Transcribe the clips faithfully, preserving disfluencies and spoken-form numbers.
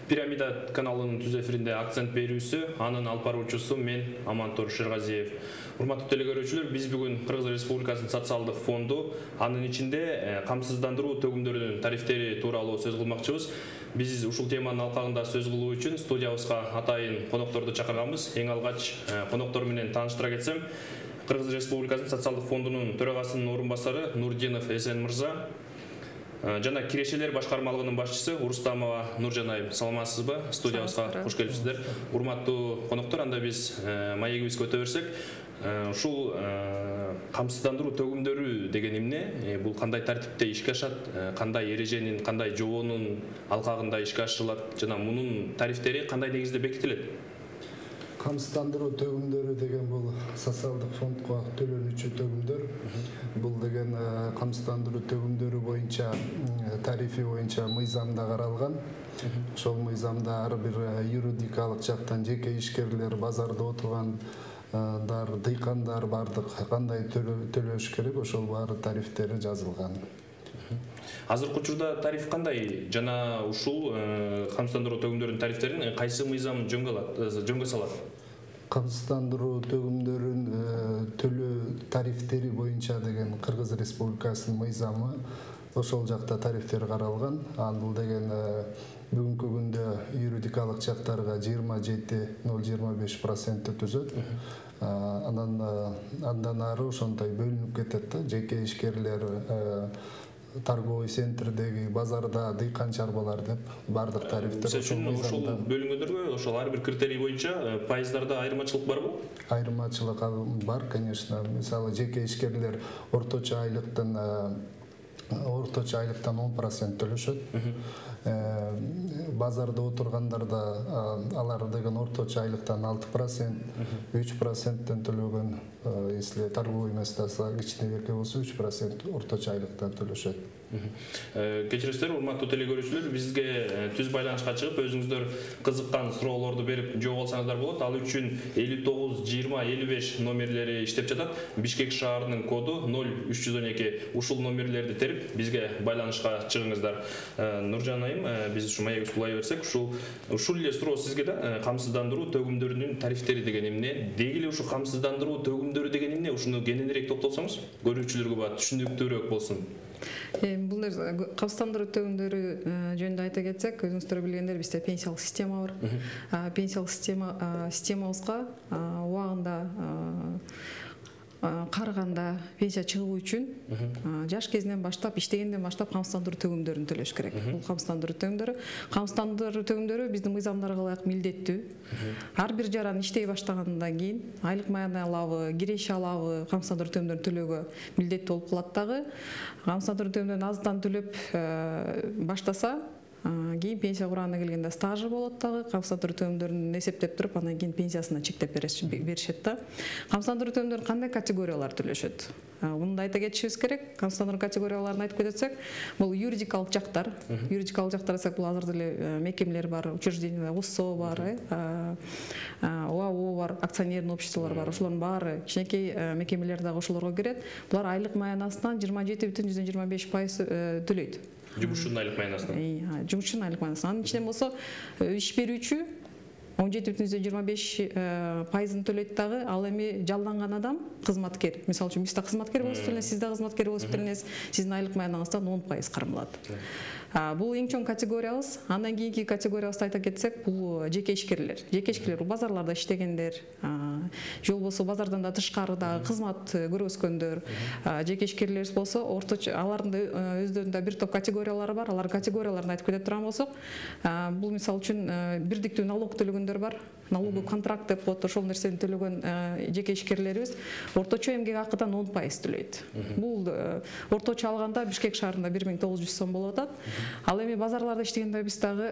Пирамида каналынын түз эфиринде акцент берүүсү, анын алып баруучусу мен Амантор Шергазиев. Урматтуу телекөрүүчүлөр, биз бүгүн Кыргыз Республикасынын социалдык фонду, анын ичинде камсыздандыруу төгүмдөрүнүн тарифтери тууралуу сөз кылмакчыбыз. Биз ушул теманын алкагында сөз кылуу үчүн студиябызга атайын конокторду чакырганбыз. Эң алгач коноктор менен тааныштыра кетсем, Кыргыз Республикасынын социалдык фондунун төрагасынын орун басары Нурдинов Эсен мырза, жана кирешелер башкармалыгынын башчысы Урустамова Нуржан айым. Саламатсызбы? Студиябызга кош келипсиздер. Урматтуу коноктор, анда биз маегибизге өтө берсек, ушул камсыздандыруу төгүмдөрү деген эмне? Бул кандай тартипте ишке ашат? Кандай эреженин, кандай жобонун алкагында ишке ашырылат жана мунун тарифтери кандай негизде бекитилет? Камсыздандыруу төгүмдөрү деген бул социалдык фондко төлөнүүчү төгүмдөр. Бул деген камсыздандыруу төгүмдөрү боюнча тарифи боюнча мыйзамда каралган. Ошол мыйзамда ар бир юридикалык жактан жеке ишкерлер, базарда отургандар, дыйкандар бардык кандай төлөш керек, ошол баары тарифтери жазылган. Азыркы учурда тариф кандай жана ушул камсыздандыруу төгүмдөрүнүн тарифтерин кайсы мыйзам жөнгө салат? Камсыздандыруу төгүмдөрүн төлөө тарифтери боюнча деген Кыргыз Республикасынын мыйзамы, ошол жакта тарифтер каралган. Бул деген бүгүнкү күндө юридикалык жактарга жыйырма жети ноль жыйырма беш процент түзөт. Анан андан ары ошондой бөлүнүп кетет да, жеке ишкерлер, торговый центрдеги, базарда дыйкан чарбалар деп бардык тарифтер ошол мыйзамда бөлүнгөндөргө, ошол ар бир критерий боюнча пайыздарда айырмачылык барбы? Айырмачылык бар, конечно. Мисалы, жеке ишкерлер орточо айлыктан орточо айлыктан он процент төлөшөт. Базарда отургандарда алар деген орточо айлыктан алты процент, үч проценттен төлөгөн, если торговый местоса кичине эрке болсо үч процент орточо айлыктан төлөшөт. Кечиресиздер, урматтуу телекөрүүчүлөр, бизге түз байланышка чыгып, өзүңүздөр кызыккан суроолорду берип жооп алсаңыздар болот. Ал үчүн элүү тогуз жыйырма элүү беш номерлери иштеп жатат. Бишкек шаарынын коду ноль үч жүз он эки. Ушул номерлерди терип бизге байланышка чыгыңыздар. Нуржан айым, биз ушу маегибизди улай берсек, ушул ушул эле суроо сизге да, камсыздандыруу төгүмдөрүнүн тарифтери деген эмне? Деги эле ушу камсыздандыруу төгүмдөрү деген эмне? Ушуну кененирээк токтолсоңуз, көрүүчүлөргө баа түшүнүктүүрөөк болсун. Бул камсыздандыруу төгүмдөрү жөнүндө айта кетсек, өзүңүздөр билгендер, бизде пенсиялык система бар. Пенсиялык система системабызга убагында карыганда пенсия чыгуу үчүн жаш кезинен баштап, иштегенден баштап камсыздандыруу төгүмдөрүн төлөш керек. Бул камсыздандыруу төгүмдөрү, камсыздандыруу төгүмдөрү биздин мыйзамдарга ылайык милдеттүү. Ар бир жаран иштей баштагандан кийин айлык маянай алабы, киреше алабы, камсыздандыруу төгүмдөрүн төлөөгө милдеттүү болуп калат дагы. Камсыздандыруу төгүмдөрүн аздан төлөп баштаса, кийин пенсия курагына келгенде стажы болот дагы, камсыздандыруу төгүмдөрүн эсептеп туруп, анан кийин пенсиясына чектеп беришет да. Камсыздандыруу төгүмдөрүн кандай категориялар төлөшөт? Муну да айта кетишибиз керек. Камсыздандыруу категорияларын айтып кетсек, бул юридикалык жактар. Юридикалык жактар десек, бул азыр деле мекемелер бар, учреждение, УСО бар, ОАО бар, акционерный обществолор бар. Ошолордун баары кичинекей мекемелер дагы ошолорго кирет. Булар айлык маянасынан жыйырма жети бүтүн жүздөн жыйырма беш пайыз төлөйт. Жумушчунун айлык маянасынан. Жумушчунун айлык маянасынан. Анын ичинен болсо иш берүүчү он жети бүтүн жүздөн жыйырма беш пайызын төлөйт дагы. Ал эми жалданган адам, кызматкер. Мисалы үчүн, биз да кызматкер болуп беренбиз, сиз да кызматкер болуп беренсиз. Сиздин айлык маяныңыздан он пайыз кармалат. Бул эң чоң категориябыз. Андан кийинки категориябызды айта кетсек, бул жеке ишкерлер. Жеке ишкерлер бул базарларда иштегендер, же болбосо базардан да тышкарыда кызмат көргөзгөндөр. Жеке ишкерлер болсо, орточо алардын өздөрүнүн да бир топ категориялары бар. Алар категорияларын айтып кете турган болсок, бул мисалы үчүн бирдиктүү налог төлөгөндөр бар. Налоговый контракт деп коет, ошол нерсени төлөгөн жеке ишкерлерибиз орточо эмгек акыдан он пайыз төлөйт. Бул орточо алганда Бишкек шаарында бир миң тогуз жүз сом болуп атат. Ал эми базарларда иштегенде биз дагы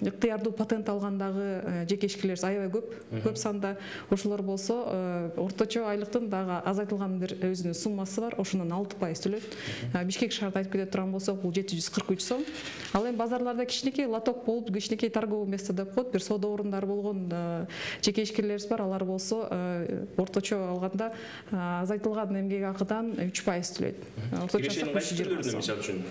ыктыярдуу патент алгандагы жеке ишкерлерибиз аябай көп, көп санда. Ошолор болсо орточо айлыктын дагы азайтылган бир өзүнүн суммасы бар, ошондон алты пайыз төлөйт. Бишкек шаарда айтып кете турган болсок, бул жети жүз кырк үч сом. Ал эми базарларда кичинекей лоток болуп, кичинекей торговый место деп коет, бир соода орундары болгон жеке ишкерлерибиз бар. Алар болсо орточо алганда азайтылган эмгек акыдан үч пайыз төлөйт. Кирешенин кайсы түрлөрүнө мисалы үчүн?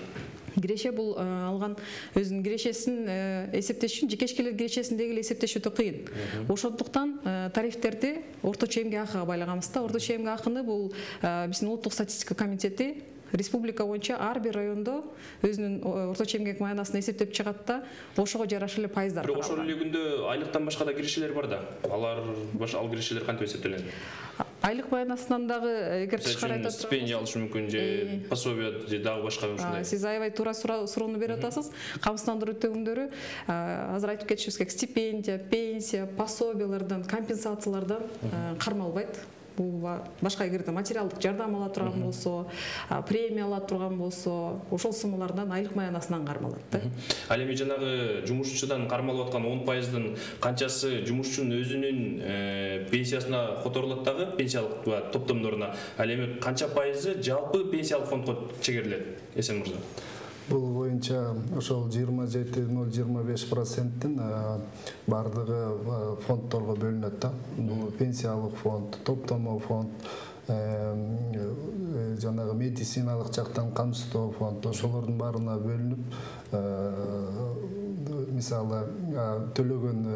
киреше бул алган өзүнүн кирешесин эсептеш үчүн жекешкелер кирешесиндеги эле эсептеш өтө кыйын. Ошондуктан тарифтерди орточо эмгек акыга байлаганбыз да. Орточо эмгек акыны бул биздин улуттук статистика комитети республика боюнча ар бир райондо өзүнүн орточо эмгек маянасын эсептеп чыгат да, ошого жараша эле пайыздар. Бирок ошол эле күндө айлыктан башка да кирешелер бар да. Алар баш ал кирешелер кантип эсептелет? Айлык маянасынан дагы эгер тышкары айта турсак, стипендия алыш мүмкүн же пособие же дагы башка ушундай. Сиз аябай туура суроону берип атасыз. Камсыздандыруу төгүмдөрү азыр айтып кетишибиз керек, стипендия, пенсия, пособиялардан, компенсациялардан кармалбайт. Бул башка эгерде материалдык жардам ала турган болсо, премия ала турган болсо, ошол суммалардан айлык маянасынан кармалат да. Ал эми жанагы жумушчудан кармалып аткан он пайыздын канчасы жумушчунун өзүнүн пенсиясына которулат дагы, пенсиялык топтомдоруна? Ал эми канча пайызы жалпы пенсиялык фондко чегерилет, Эсен мырза? Бул боюнча ошол жыйырма жети ноль жыйырма беш проценттин бардыгы фонддорго бөлүнөт да. Бул пенсиялык фонд, топтомо фонд, жанагы медициналык жактан камсыздоо фонд, ошолордун баарына бөлүнүп, мисалы төлөгөн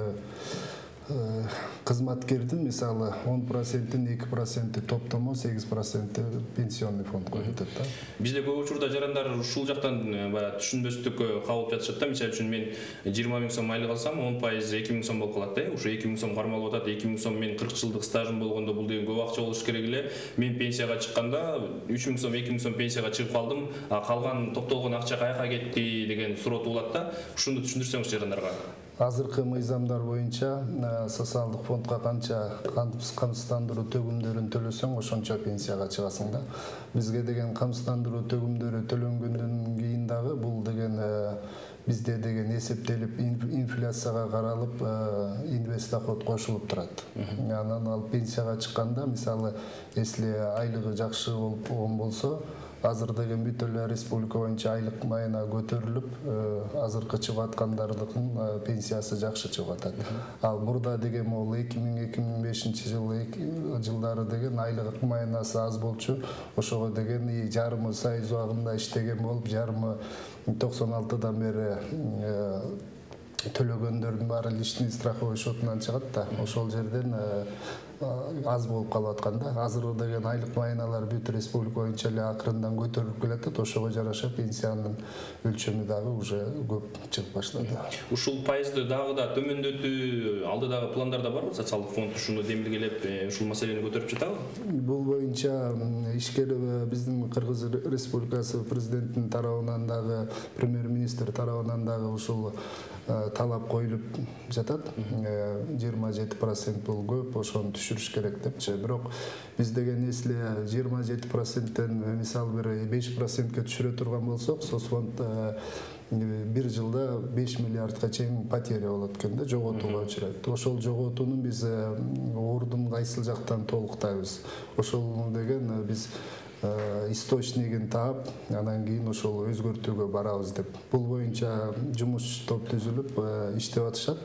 кызматкердин мисалы он проценттин эки проценти топтомо, сегиз проценти пенсионный фондко кетет да. Бизде көп учурда жарандар ушул жактан баягы түшүнбөстүккө кабылып жатышат да. Мисалы үчүн мен жыйырма миң сом айлык алсам, он пайызы эки миң сом болуп калат да. Ошо эки миң сом кармалып атат. эки миң сом мен кырк жылдык стажым болгондо бул деген көп акча болуш керек эле. Мен пенсияга чыкканда үч миң сом, эки миң сом пенсияга чыгып калдым. А калган топтолгон акча каяка кетти деген суроо туулат да. Ушуну түшүндүрсөңүз жарандарга. Азыркы мыйзамдар боюнча социалдык фондко канча камсыздандыруу төгүмдөрүн төлөсөң, ошончо пенсияга чыгасың да. Бизге деген камсыздандыруу төгүмдөрү төлөнгөндөн кийин дагы бул деген бизде деген эсептелип инфляцияга каралып инвест доход кошулуп турат. Анан ал пенсияга чыкканда, мисалы, если айлыгы жакшы болгон болсо, азыр деген бүт эле республика боюнча айлык майына көтөрүлүп, азыркы чыгып аткандардын пенсиясы жакшы чыгып атат. Ал мурда деген могул эки миң эки миң бешинчи жылдары деген айлык майынасы аз болчу. Ошого деген жарымы союз убагында иштеген болуп, жарымы токсон алтыдан бери төлөгөндөрдүн баары личный страховой счетунан чыгат да. Ошол жерден аз болуп калып аткан да. Азыр деген айлык майыналар бүт республика боюнча эле акырындан көтөрүлүп келатат. Ошого жараша пенсиянын өлчөмү дагы уже көп чыгып баштады. Ушул пайызды дагы да төмөндөтүү алдыдагы пландарда барбы? Социалдык фонд ушуну демилгелеп, ушул маселени көтөрүп жатабы? Бул боюнча ишкер биздин Кыргыз Республикасы президентинин тарабынан дагы, премьер-министр тарабынан дагы ушул талап коюлуп жатат. жыйырма жети процент бул көп, ошону түшүрүш керек депчи. Бирок биз деген если жыйырма жети проценттен мисалы бир беш процентке түшүрө турган болсок, соцфонд бир жылда беш миллиардка чейин потеря болот экен да, жоготууга учурайт. Ошол жоготууну биз ордун кайсыл жактан толуктайбыз. Ошол деген биз источнигин таап, анан кийин ошол өзгөртүүгө барабыз деп. Бул боюнча жумуш топ түзүлүп иштеп атышат.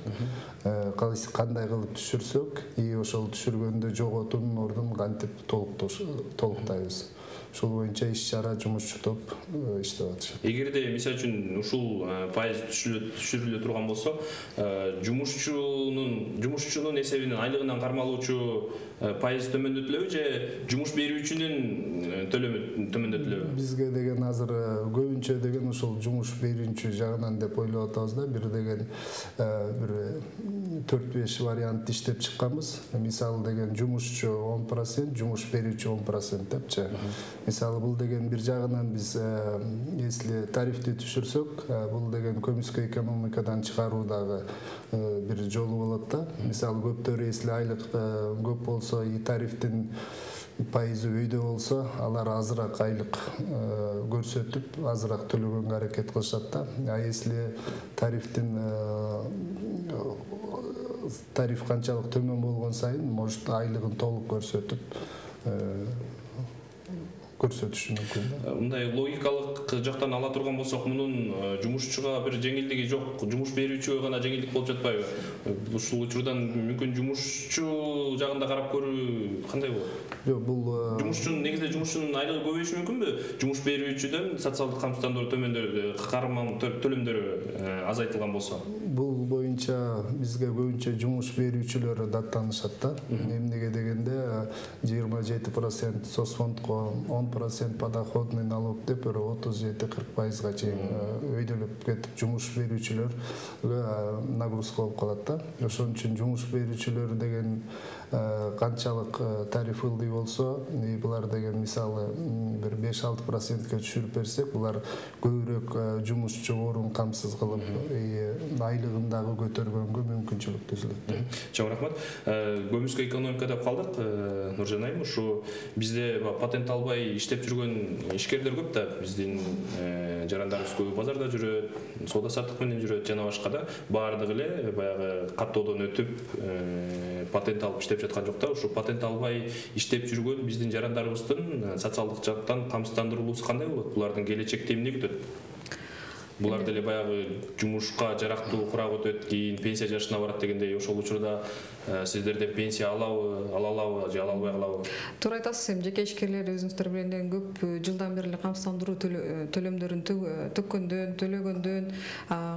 Кандай кылып түшүрсөк, и ошол түшүргөндө жоготуунун ордун кантип толуктайбыз. Ошол боюнча иш-чара жумушчу топ иштеп атышат. Эгерде мисалы үчүн ушул пайыз түшүрүлө турган болсо, жумушчунун жумушчунун эсебинен айлыгынан кармалуучу пайыз төмөндөтүлөбү же жумуш берүүчүнүн төлөмү төмөндөтүлөбү? Бизге деген азыр көбүнчө деген ушул жумуш берүүчү жагынан деп ойлоп атабыз да. Бир деген бир төрт беш вариант иштеп чыкканбыз. Мисалы деген жумушчу он процент, жумуш берүүчү он процент депчи. Мисалы бул деген бир жагынан биз если тарифти түшүрсөк, бул деген көмүскө экономикадан чыгаруу дагы бир жолу болот да. Мисалы көптөр если айлык көп болсо, и тарифтин пайызы өйдө болсо, алар азыраак айлык көрсөтүп, азыраак төлөгөнгө аракет кылышат да. А если тарифтин тариф канчалык төмөн болгон сайын, может айлыгын толук көрсөтүп көрсөтүшү мүмкүн да. Мындай логикалык жактан ала турган болсок, мунун жумушчуга бир жеңилдиги жок, жумуш берүүчүгө гана жеңилдик болуп жатпайбы? Ушул учурдан мүмкүн жумушчу жагында карап көрүү кандай болот? Жок, бул жумушчунун негизинде жумушчунун айлыгы көбөйүшү мүмкүнбү? Жумуш берүүчүдөн социалдык камсыздандыруу төмөндөр, карман төлөмдөрү азайтылган болсо. Бул боюнча бизге көбүнчө жумуш берүүчүлөр даттанышат да. Эмнеге дегенде жыйырма жети процент соцфондко, он процент подоходный налог деп бир отуз жети кырк пайызга чейин өйдөлүп кетип жумуш берүүчүлөргө нагрузка болуп калат да. Ошон үчүн жумуш берүүчүлөр деген канчалык тариф ылдый болсо, булар деген мисалы бир беш алты процентке түшүрүп берсек, булар көбүрөөк жумушчу орун камсыз кылып, айлыгын дагы көтөргөнгө мүмкүнчүлүк түзүлөт. Чоң рахмат. Көмүскө экономика деп калдык. Нуржан айым, ушу бизде патент албай иштеп жүргөн ишкерлер көп да. Биздин жарандарыбыз көбү базарда жүрөт, соода саттык менен жүрөт жана башка да. Баардыгы эле баягы каттоодон өтүп патент алып иштеп жаткан жок да. Ушу патент албай иштеп жүргөн биздин жарандарыбыздын социалдык жактан камсыздандырылуусу кандай болот? Булардын келечекте эмне күтөт? Булар деле баягы жумушка жарактуу курап өтөт, кийин пенсия жашына барат дегендей, ошол учурда сиздерден пенсия алабы, ала алабы же ала албай калабы? Туура айтасыз. Эми жеке ишкерлер өзүңүздөр билгенден көп жылдан бери эле камсыздандыруу төлөмдөрүн төккөндөн, төлөгөндөн,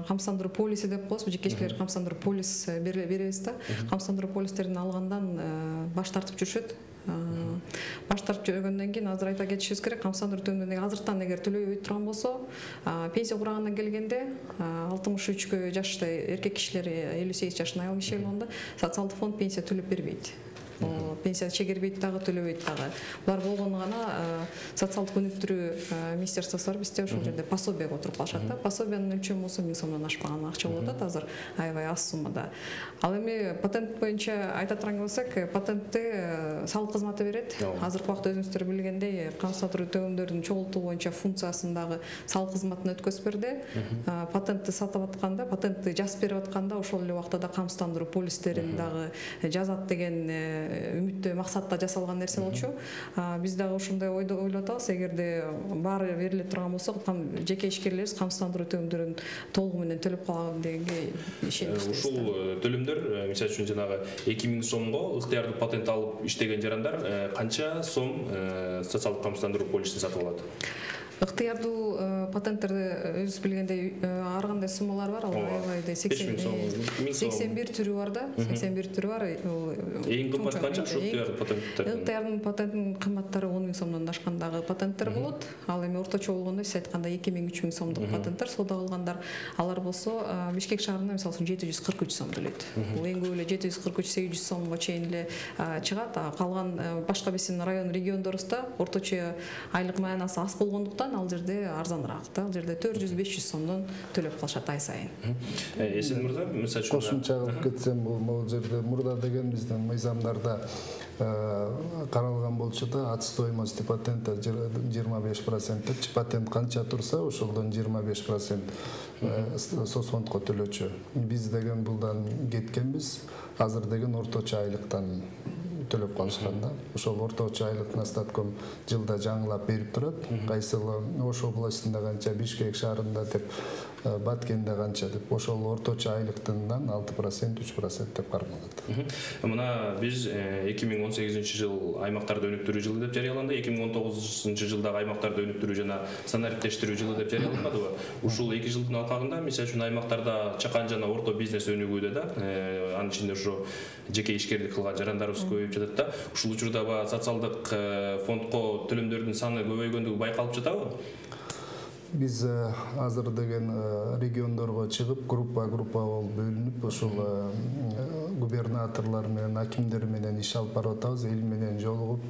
камсыздандыруу полиси деп коебуз. Жеке ишкерлер камсыздандыруу полис беребиз да. Камсыздандыруу полистерин алгандан баш тартып жүрүшөт. Баш тартып жүргөндөн кийин азыр айта кетишибиз керек, камсыздандыруу төлөмдөрүн азыртан эгер төлөбөй турган болсо, пенсия курагына келгенде алтымыш үчкө жашта эркек кишилер элүү сегиз жашына аял кишилер болгондо социалдык фонд пенсия төлөп бербейт. Пенсия чегербейт дагы, төлөбөйт дагы. Булар болгону гана социалдык өнүктүрүү министерствосу бар бизде, ошол жерде пособияга отуруп калышат да. Пособиянын өлчөмү болсо миң сомдон ашпаган акча болуп атат азыр, аябай аз суммада. Ал эми патент боюнча айта турган болсок, патентти салык кызматы берет. Азыркы убакта өзүңүздөр билгендей, камсыздандыруу төлөмдөрүн чогултуу боюнча функциясын дагы салык кызматына өткөзүп берди. Патентти сатып атканда, патентти жазып берип атканда ошол эле убакта да камсыздандыруу полистерин дагы жазат деген үмүттө, максатта жасалган нерсе болчу. Биз дагы ушундай ойдо ойлоп атабыз. Эгерде баары бериле турган болсо, жеке ишкерлерибиз камсыздандыруу төлөмдөрүн толугу менен төлөп калган дегенге ишенебиз. Ушул төлөмдөр, мисалы үчүн жанагы эки миң сомго ыктыярдуу патент алып иштеген жарандар канча сом социалдык камсыздандыруу полисин сатып алат? Ыктыярдуу патенттерде өзүңүз билгендей ар кандай суммалар бар. Ал аябай сексен бир түрү бар да. сексен бир түрү бар. Эң кымбат канча ушу ыктыярдуу патенттер? Ыктыярдын патентинин кымбаттары он миң сомдон ашкандагы патенттер болот. Ал эми орточо болгондо сиз айтканда эки миң үч миң сомдук патенттер соода кылгандар. Алар болсо Бишкек шаарында мисалы үчүн жети жүз кырк үч сом төлөйт. Бул эң көп эле жети жүз кырк үч сегиз жүз сомго чейин эле чыгат. Калган башка биздин район региондорубузда орточо айлык маянасы аз болгондуктан ал жерде арзаныраак да. Ал жерде төрт жүз беш жүз сомдон төлөп калышат ай сайын. Эсен мырза, мисалы үчүн кошумча кылып кетсем, бул жерде мурда деген биздин мыйзамдарда каралган болчу да, от стоимости патента жыйырма беш процент депчи. Патент канча турса, ошолдон жыйырма беш процент соцфондко төлөчү. Биз деген булдан кеткенбиз. Азыр деген орточо айлыктан төлөп калышкан да. Ошол орточо айлык Настатком жылда жаңылап берип турат. Кайсыл Ош областында канча, Бишкек шаарында деп, Баткенде канча деп, ошол орточо айлыктан алты процент, үч процент деп кармалат. Мына биз эки миң он сегизинчи жыл аймактарды өнүктүрүү жылы деп жарыяланды. эки миң он тогузунчу жылдагы аймактарды өнүктүрүү жана стандарттештирүү жылы деп жарыяланбадыбы? Ушул эки жылдын алкагында мисалы үчүн аймактарда чакан жана орто бизнес өнүгүүдө да, анын ичинде ушу жеке ишкерлик кылган жарандарыбыз көбөйүп жатат да. Ушул учурда социалдык фондко төлөмдөрдүн саны көбөйгөндүгү байкалып жатабы? Биз азыр деген региондорго чыгып, группа группа болуп бөлүнүп, ушул губернаторлор менен, акимдер менен иш алып барып атабыз. Эл менен жолугуп,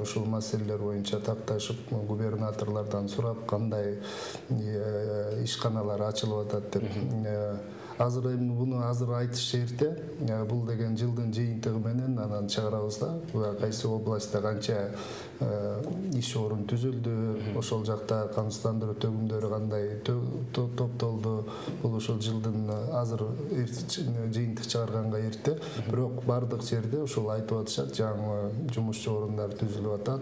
ушул маселелер боюнча такташып, губернаторлордон сурап, кандай ишканалар ачылып атат деп азыр эми буну азыр айтыш эрте. Бул деген жылдын жыйынтыгы менен анан чыгарабыз да. Кайсы областта канча иш орун түзүлдү, ошол жакта камсыздандыруу төгүмдөрү кандай топтолду. Бул ошол жылдын азыр жыйынтык чыгарганга эрте. Бирок бардык жерде ошол айтып атышат, жаңы жумушчу орундар түзүлүп атат.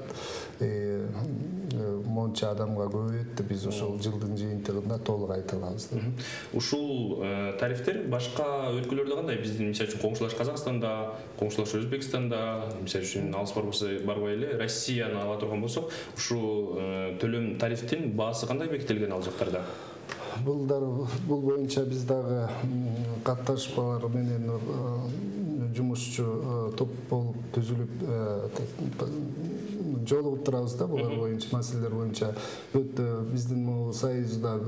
Монча адамга көбөйөт. Биз ошол жылдын жыйынтыгында толук айта алабыз. Ушул тарифтер башка өлкөлөрдө кандай? Биздин мисалы үчүн коңшулаш Казакстанда, коңшулаш Өзбекстанда, мисалы үчүн алыс барбай эле Россияны ала турган болсок, ушул төлөм тарифтин баасы кандай бекитилген ал жактарда? Бул бул боюнча биз дагы катташмалар менен жумушчу топ болуп түзүлүп жолугуп турабыз да, булар боюнча маселелер боюнча. Биздин могу союзда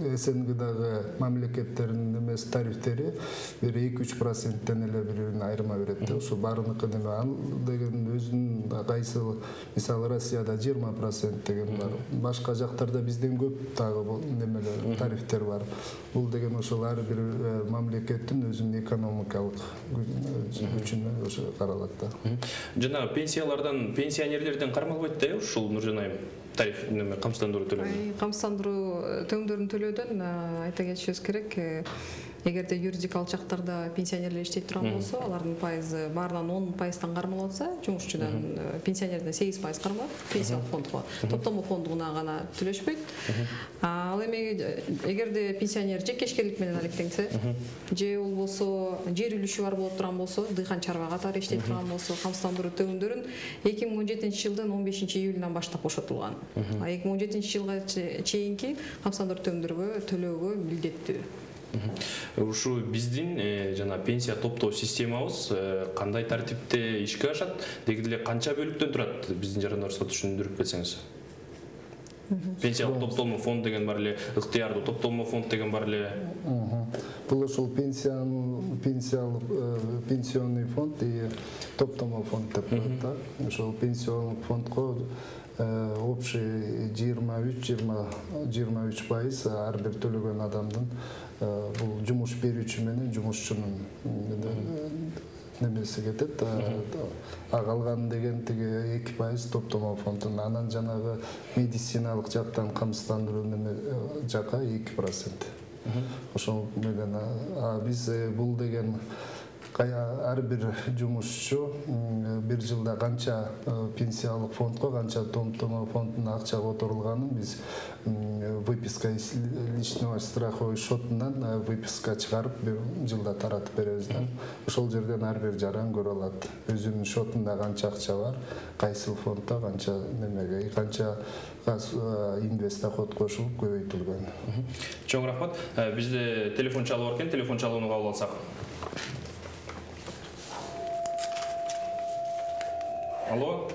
СНГдагы мамлекеттердин эмес тарифтери бир эки үч проценттен эле бири-бирин айырма берет. Ошо баарыныкы неме ал деген өзүнүн кайсы мисалы Россияда жыйырма процент деген бар. Башка жактарда бизден көп дагы немелер тарифтер бар. Бул деген ошол ар бир мамлекеттин өзүнүн экономикалык күчүнө ошо каралат да. Жана пенсиялардан, пенсионерлерден кармалбайт да, ушул Нуржан айым? Тариф неме камсыздандыруу төлөмү. Камсыздандыруу төңдөрүн төлөөдөн айта кетишибиз керек. Эгерде юридик алчактарда пенсионерлер иштей турган болсо, алардын пайызы баарынан он пайыздан кармалып атса, жумушчудан пенсионерден сегиз пайыз кармалат, пенсиялык фондго. Топтому фондуна гана төлөшпөйт. Ал эми эгерде пенсионер жекешкерлик менен алектенсе, же болбосо жер үлүшү бар болуп турган болсо, дыйкан чарба катары иштей турган болсо, камсыздандыруу төмөндөрүн эки миң он жетинчи жылдын он бешинчи июлунан баштап бошотулган. эки миң он жетинчи жылга чейинки камсыздандыруу төмөндөргө төлөөгө милдеттүү. Ушу биздин жана пенсия топтоо системабыз кандай тартипте ишке ашат? Деги эле канча бөлүктөн турат? Биздин жарандарыбызга түшүндүрүп кетсеңиз. Пенсиялык топтолмо фонд деген бар эле, ыктыярдуу топтолмо фонд деген бар эле. Бул ошол пенсиянын пенсиялык пенсионный фонд и топтолмо фонд деп коет да. Ошол пенсиондук фондго общий жыйырма үч жыйырма үч пайыз ар бир төлөгөн адамдын бул жумуш берүүчү менен жумушчунун немеси кетет. А калган деген тиги эки пайыз топтомо фондун. Анан жанагы медициналык жактан камсыздандыруу неме жака эки процент. Ошол менен биз бул деген ар бир жумушчу бир жылда канча пенсиялык фондго, канча топтомо фондуна акча которулганын биз выписка из личного страховой счетунан выписка чыгарып бир жылда таратып беребиз да. Ошол жерден ар бир жаран көрө алат. Өзүнүн счетунда канча акча бар, кайсы фондда канча немеге, канча инвестдоход кошулуп көбөйтүлгөн. Чоң рахмат. Бизде телефон чалып бар экен, телефон чалууну кабыл алсак. Алло.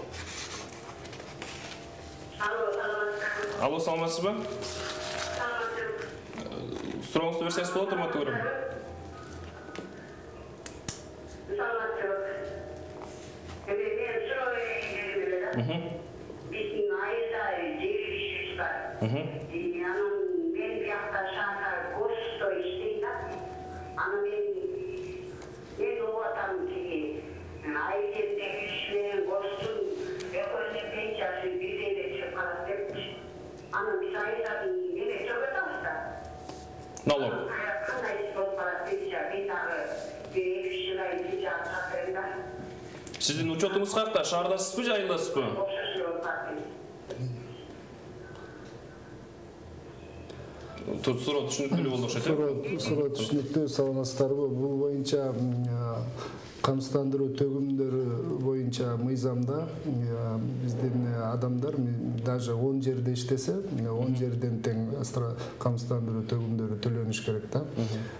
Алло, саламатсызбы? Сурооңузду берсеңиз болот, урматтуу көрөрман. Биздин айылда жер ишибиз бар. Анан мен биякта шаһар госто иштейт да. Анан мен мен угатам тиги айыл жердеги иш менен гостун экөөнүн пенсиясы бирдей эле чыгып калат депчи. Анан биз айылдардын неме төлөп атабыз да. Налог. Кандай иш болуп калат пенсия, мен дагы бир эки үч жыл айыл пенсия алып да. Сиздин учетуңуз каякта? Шаардасызбы же айылдасызбы? Суроо түшүнүктүү болду окшойт. Суроо түшүнүктүү, саламатсыздарбы? Бул боюнча камсыздандыруу төгүмдөрү боюнча мыйзамда биздин адамдар даже он жерде иштесе, он жерден тең камсыздандыруу төгүмдөрү төлөнүш керек да.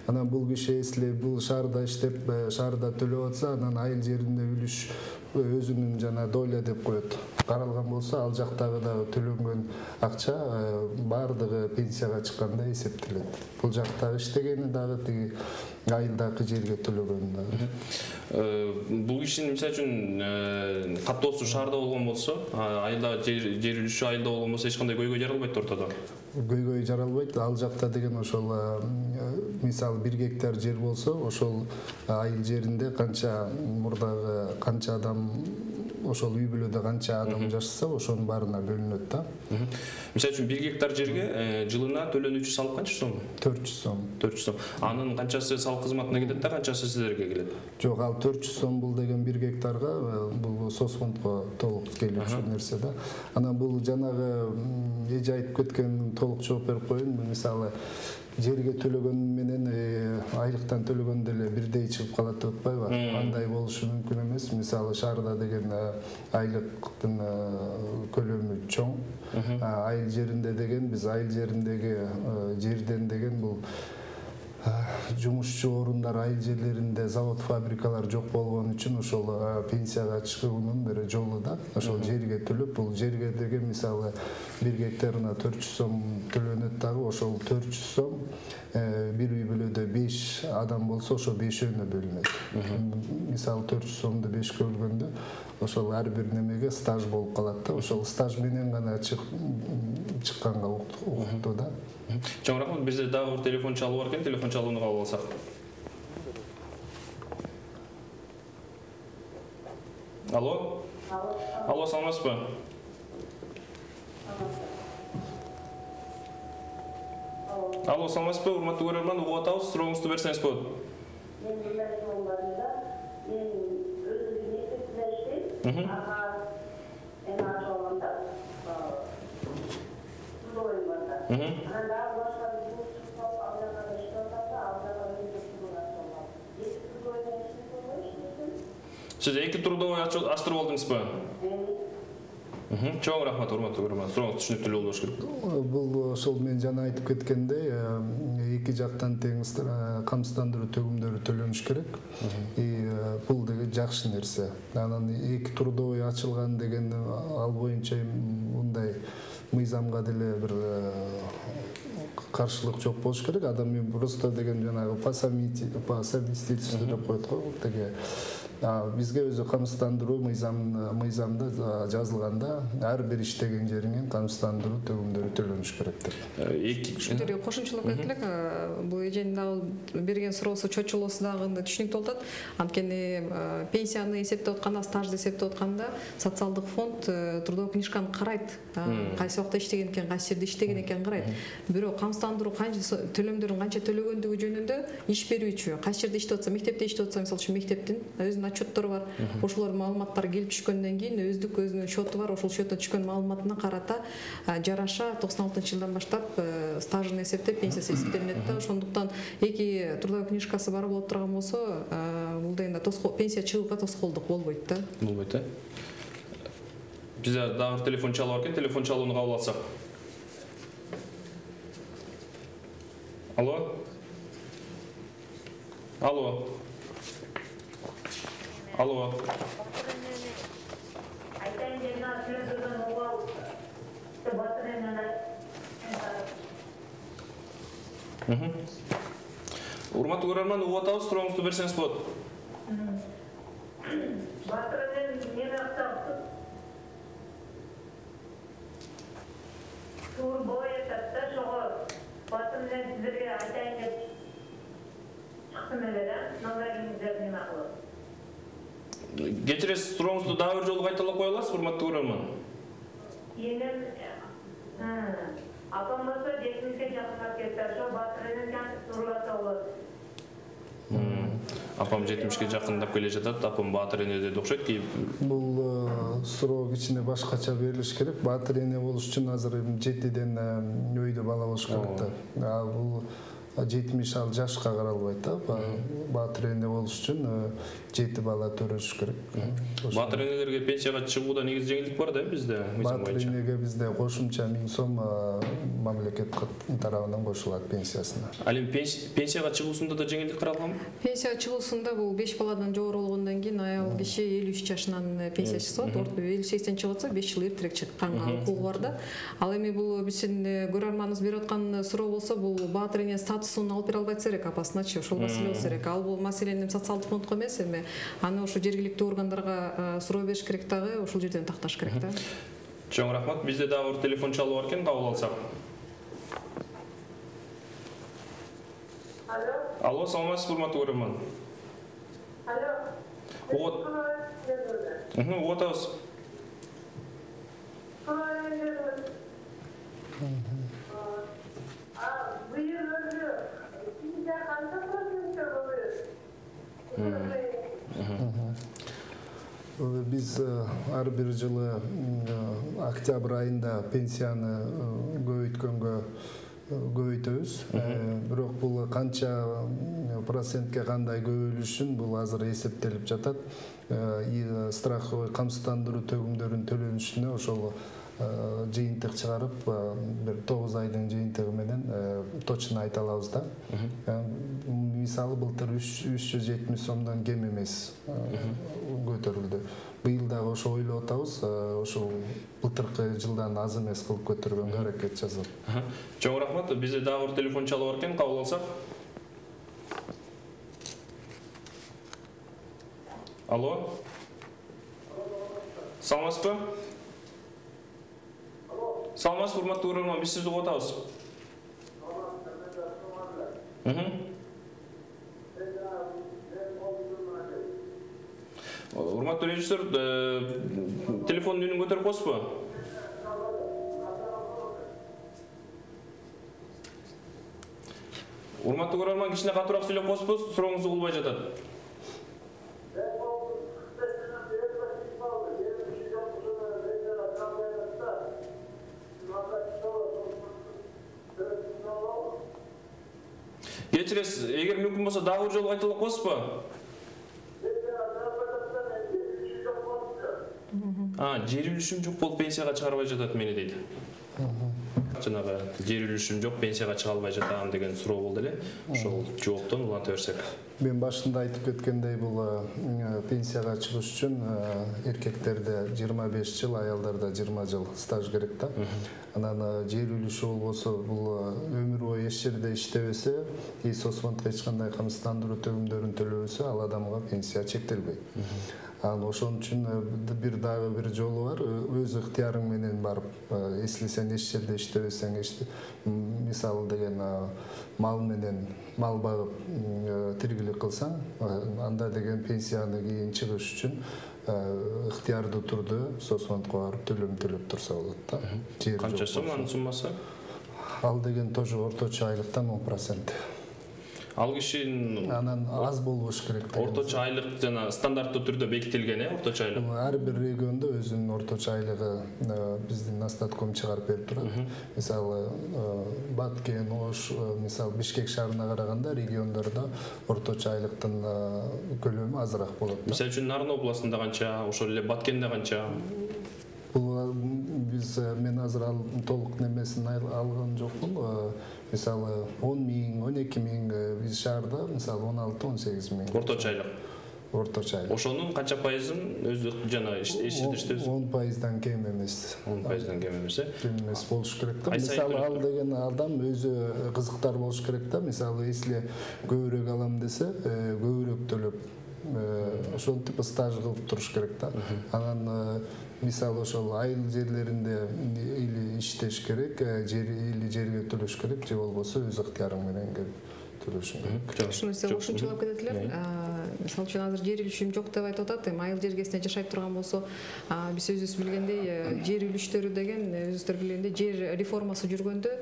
Анан бул киши если бул шаарда иштеп, шаарда төлөп атса, анан айыл жеринде үлүш өзүнүн жана доля деп коет. Каралган болсо, ал жактагы дагы төлөнгөн акча баардыгы пенсияга чыкканда эсептелет. Бул жакта иштегени дагы тиги айылдагы жерге төлөгөн дагы. Бул кишинин мисалы үчүн каттоосу шаарда болгон болсо, айылдагы жер үлүшү айылда болгон болсо эч кандай көйгөй жаралбайт ортодо. Көйгөй жаралбайт. Ал жакта деген ошол мисалы бир гектар жер болсо, ошол айыл жеринде канча мурдагы канча адам ошол үй бүлөдө канча адам жашаса, ошонун баарына бөлүнөт да. Мисалы үчүн бир гектар жерге жылына төлөнүүчү салык канча сом? төрт жүз сом. төрт жүз сом. Анын канчасы салык кызматына кетет да, канчасы сиздерге келет? Жок, ал төрт жүз сом бул деген бир гектарга бул соцфондко толук келүүчү нерсе да. Анан бул жанагы эже айтып кеткен толук жооп берип коеюн. Мисалы жерге төлөгөн менен айлыктан төлөгөн деле бирдей чыгып калат деп атпайбы? Андай болушу мүмкүн эмес. Мисалы шаарда деген айлыктын көлөмү чоң. Айыл жеринде деген биз айыл жериндеги жерден деген бул жумушчу орундар айыл жерлеринде завод фабрикалар жок болгон үчүн ошол пенсияга чыгуунун бир жолу да. Ошол жерге төлөп, бул жерге деген мисалы бир гектарына төрт жүз сом төлөнөт дагы, ошол төрт жүз сом бир үй бүлөдө беш адам болсо ошо бешөөнө бөлүнөт. Мисалы төрт жүз сомду бешке бөлгөндө ошол ар бир немеге стаж болуп калат да. Ошол стаж менен гана чыкканга укуктуу да. Чоң рахмат. Бизде дагы бир телефон чалуу бар экен. Телефон чалууну кабыл алсак. Алло? Алло, саламатсызбы? Алло, саламатсызбы? Урматтуу көрөрман, угуп атабыз. Сурооңузду берсеңиз болот. Мен мындай суроом бар да. Мен өзүм мектепте иштейм. Ага, эми ачып алганда трудовой бар да. Анан дагы башка бул чыкпап алганда иштеп атат да, алганда өзү трудовой ачып алган. Эки трудовой иштеп койбойбу? Сиз эки трудовой ачтырып алдыңызбы? Чоң рахмат, урматтуу көрөрман. Сурооңуз түшүнүктүү болуш керек. Бул ошол мен жана айтып кеткендей, эки жактан тең камсыздандыруу төгүмдөрү төлөнүш керек. И бул деген жакшы нерсе. Анан эки трудовой ачылган деген ал боюнча мындай мыйзамга деле бир каршылык жок болуш керек. Адам просто деген жанагы по совместительству деп коет го, деге бизге өзү камсыздандыруу мыйзамда жазылганда ар бир иштеген жериңен камсыздандыруу төгүмдөрү төлөнүш керек деп. Ушунтип кошумчалап кетет элек, бул эженин дагы берген суроосу чочулоосу дагы түшүнүктүү болуп атат. Анткени пенсияны эсептеп атканда, стажды эсептеп атканда социалдык фонд трудовой книжканы карайт. Кайсы убакта иштеген экен, кайсы жерде иштеген экен карайт. Бирок камсыздандыруу канча төлөмдөрүн канча төлөгөндүгү жөнүндө иш берүүчү кайсы жерде иштеп атса, мектепте иштеп атса, мисалы үчүн мектептин өзүнүн отчеттору бар. Ошолор маалыматтар келип түшкөндөн кийин өздүк өзүнүн счету бар. Ошол счетто түшкөн маалыматына карата жараша токсон алтынчы жылдан баштап стажын эсептеп, пенсиясы эсептелинет да. Ошондуктан эки трудовой книжкасы бар болуп турган болсо, бул дегенде пенсия чыгууга тоскоолдук болбойт да. Болбойт э. Бизде дагы телефон чалуу бар экен. Телефон чалууну кабыл алсак. Алло? Алло? Алло? Айтайын деген сөздөрдөн угал. Урматтуу көрөрман, угуп атабыз, сурооңузду берсеңиз болот. Батырдын не актапты? Тур боятат да, ошого батыр менен сиздерге айтайын деп чыктым эле да, номериңиздерди неме кылып. Кечиресиз, сурооңузду дагы бир жолу кайталап кое аласыз, урматтуу көрөрман? Енем апам болсо жетимишке жакындап кетти, ошо батырынын кантип турласа болот. Апам жетимишке жакындап келе жатат, апам баатыр эне деди окшойт ки. Бул суроо кичине башкача берилиш керек. Баатыр эне болуш үчүн азыр жетиден өйдө бала болуш керек да. Бул жетимиш ал жашка каралбайт да. Баатыр эне болуш үчүн жети бала төрөш керек. Баатыр энелерге пенсияга чыгууда негизи жеңилдик бар да бизде? Баатыр энеге бизде кошумча миң сом мамлекет тарабынан кошулат пенсиясына. Ал эми пенсияга чыгуусунда да жеңилдик каралганбы? Пенсияга чыгуусунда бул беш баладан жогору болгондон кийин аял киши элүү үч жашынан пенсия чыкса болот. элүү сексен чыгып атса беш жыл эртерээк чыкканга укугу бар да. Ал эми бул биздин көрөрманыбыз берип аткан суроо болсо, бул баатыр эне катысууну алып бере албайт элек апасыначы, ошол маселе болсо керек. Ал бул маселени социалдык фондко эмес, эми аны ошо жергиликтүү органдарга суроо бериш керек дагы, ошол жерден такташ керек да. Чоң рахмат. Бизде дагы бир телефон чалуу бар экен, кабыл алсак. Алло. Алло, саламатсызбы, урматтуу көрөрман? Алло. Угут. Мхм, угутабыз. Биз ар бир жылы октябрь айында пенсияны көбөйткөнгө көбөйтөбүз. Бирок бул канча процентке кандай көбөйлүшүн бул азыр эсептелип жатат. Страховый камсыздандыруу төгүмдөрүнүн төлөнүшүнө ошол жыйынтык чыгарып, бир тогуз айдын жыйынтыгы менен точно айта алабыз да. Мисалы былтыр үч жүз жетимиш сомдон кем эмес көтөрүлдү. Быйыл дагы ошо ойлоп атабыз, ошол былтыркы жылдан аз эмес кылып көтөргөнгө аракет жасап. Чоң рахмат. Бизде дагы бир телефон чалуу бар экен, кабыл алсак. Алло. Саламатсызбы? Саламатсызбы, урматтуу көрөрман, биз сизди угуп атабыз. Урматтуу режиссер, телефондун үнүн көтөрүп коесузбу? Урматтуу көрөрман, кичине катуураак сүйлөп коесузбу? Сурооңузду угулбай жатат. Кечиресиз, эгер мүмкүн болсо дагы бир жолу кайталап коесузбу? А, жер үлүшүм жок болуп пенсияга чыгарбай жатат мени дейт. Жанагы жер үлүшүм жок, пенсияга чыга албай жатам деген суроо болду эле. Ошол жооптон уланта берсек. Мен башында айтып кеткендей, бул пенсияга чыгыш үчүн эркектерде жыйырма беш жыл, аялдарда жыйырма жыл стаж керек да. Анан жер үлүшү болбосо, бул өмүр бою эч жерде иштебесе, и соцфондко эч кандай камсыздандыруу төгүмдөрүн төлөбөсө, ал адамга пенсия чектелбейт. Ал ошон үчүн бир дагы бир жолу бар, өз ыктыярың менен барып, эсли сен эч жерде иштебесең, мисалы деген мал менен мал багып тиргилик кылсаң, анда деген пенсияны кийин чыгыш үчүн ыктыярдуу турду соцфондко барып төлөм төлөп турса болот да. Канча сом анын суммасы? Ал деген тоже орточо айлыктан он процент. Ал кишинин анан аз болбош керек. Орточо айлык жана стандарттуу түрдө бекитилген, э, орточо айлык. Ар бир региондо өзүнүн орточо айлыгы биздин Настатком чыгарып берип турат. Мисалы Баткен, Ош, мисалы Бишкек шаарына караганда региондордо орточо айлыктын көлөмү азыраак болот. Мисалы үчүн Нарын областында канча, ошол эле Баткенде канча? Бул биз мен азыр ал толук немесин алган жокмун. Мисалы он миң, он эки миң, биз шаарда мисалы он алты он сегиз миң. Орточо айлык. Орточо айлык. Ошонун канча пайызын өзү жана эч жерде иштебиз? он пайыздан кем эмес. он пайыздан кем эмес, э? Кем эмес болуш керек да. Мисалы ал деген адам өзү кызыктар болуш керек да. Мисалы эсли көбүрөөк алам десе, көбүрөөк төлөп, ошентип стаж кылып туруш керек да. Анан мисалы ошол айыл жерлеринде или иштеш керек, жер или жерге төлөш керек, же болбосо өз ыктыярың менен төлөшүң керек. Ушуну сиз ушунчалап кетет элем. Мисалы үчүн азыр жер үлүшүм жок деп айтып атат. Эми айыл жергесинде жашайт турган болсо, биз өзүбүз билгендей, жер үлүштөрү деген өзүңүздөр билгендей жер реформасы жүргөндө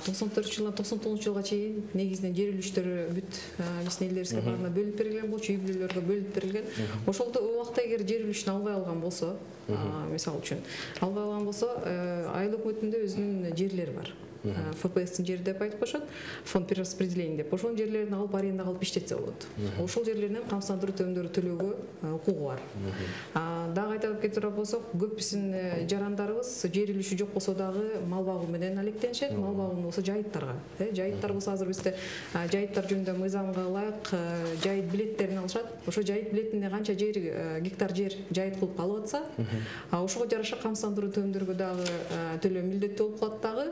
токсон төртүнчү жылдан токсон тогузунчу жылга чейин негизинен жер үлүштөрү бүт биздин элдерибизге баарына бөлүнүп берилген болчу, үй бүлөлөргө бөлүнүп берилген. Ошолдо убакта эгер жер үлүшүн албай алган болсо, мисалы үчүн албай алган болсо, айыл өкмөтүндө өзүнүн жерлери бар. эф пэ эстин жери деп айтып коюшат, фонд перераспределения деп. Ошол жерлерин алып арендага алып иштетсе болот. Ошол жерлеринен камсыздандыруу төмөндөрү төлөөгө укугу бар. Дагы айтып кетирет болсок, көп биздин жарандарыбыз жер үлүшү жок болсо дагы мал багуу менен алектенишет. Мал багуу болсо жайыттарга, э, жайыттар болсо азыр бизде жайыттар жөнүндө мыйзамга ылайык жайыт билеттерин алышат. Ошо жайыт билетинде канча жер, гектар жер жайыт кылып алып атса, ошого жараша камсыздандыруу төмөндөргө дагы төлөө милдеттүү болуп калат дагы.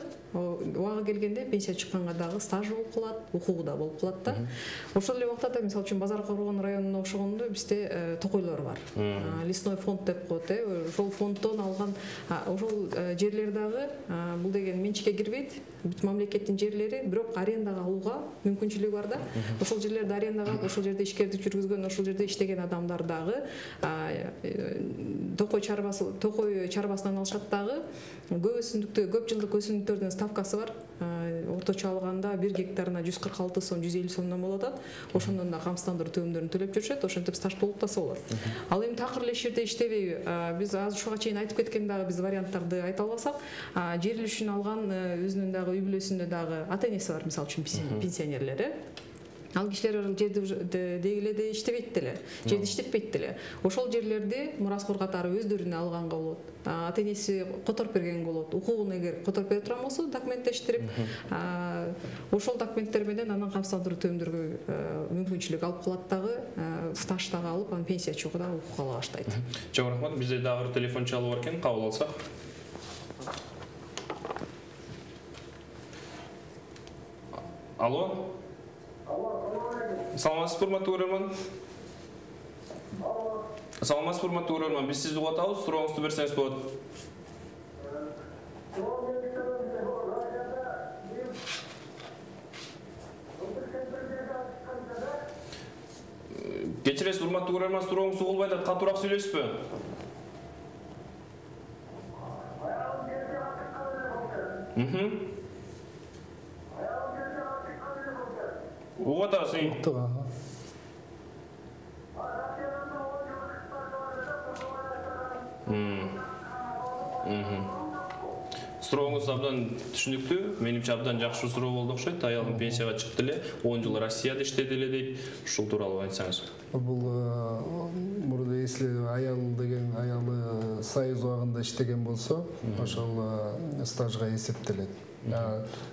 убагы келгенде пенсия чыкканга дагы стаж болуп калат, укугу да болуп калат да. Ошол эле убакта да мисалы үчүн Базар Коргон районуна окшогондо бизде токойлор бар. Лесной фонд деп коет, ошол фонддон алган ошол жерлер дагы бул деген менчикке кирбейт, бүт мамлекеттин жерлери, бирок арендага алууга мүмкүнчүлүгү бар да. Ошол жерлерди арендага алып, ошол жерде ишкердик жүргүзгөн, ошол жерде иштеген адамдар дагы токой чарбасы, токой чарбасынан алышат дагы. Көп өсүмдүктө, көп жылдык өсүмдүктөрдүн ставкасы бар. Орточо алганда бир гектарына жүз кырк алты сом, жүз элүү сомдон болот. Ошондон да камсыздандыруу төмөндөрүн төлөп жүрүшөт, ошентип стаж толуктаса болот. Ал эми такыр эле иш жерде иштебей, биз азыр ушуга чейин айтып кеткен дагы биз варианттарды айта албасак, жер үлүшүн алган өзүнүн дагы үй бүлөсүндө дагы ата-энеси бар, мисалы үчүн пенсионерлер. Ал кишилер жерди деги эле иштебейт деле, жерди иштетпейт деле. Ошол жерлерди мураскор катары өздөрүнө алганга болот. Ата-энеси которуп берген болот. Укугун эгер которуп бере турган болсо, документтештирип, ошол документтер менен анан камсыздандыруу төмөндөргө мүмкүнчүлүк алып калат дагы, стаж дагы алып, анан пенсия чогуу дагы укук ала баштайт. Чоң рахмат. Бизде дагы бир телефон чалып бар экен, кабыл алсак. Алло. Саламатсызбы, урматтуу көрөрман? Саламатсызбы, урматтуу көрөрман? Биз сизди угуп атабыз, сурооңузду берсеңиз болот. Кечиресиз, урматтуу көрөрман, сурооңуз угулбай атат, катуураак сүйлөйсүзбү? Мхм. Угуп атабыз. Сурооңуз абдан түшүнүктүү. Менимче абдан жакшы суроо болду окшойт. Аялым пенсияга чыкты эле, он жыл Россияда иштеди эле дейт. Ушул тууралуу айтсаңыз. Бул мурда если аял деген аялы союз убагында иштеген болсо, ошол стажга эсептелет.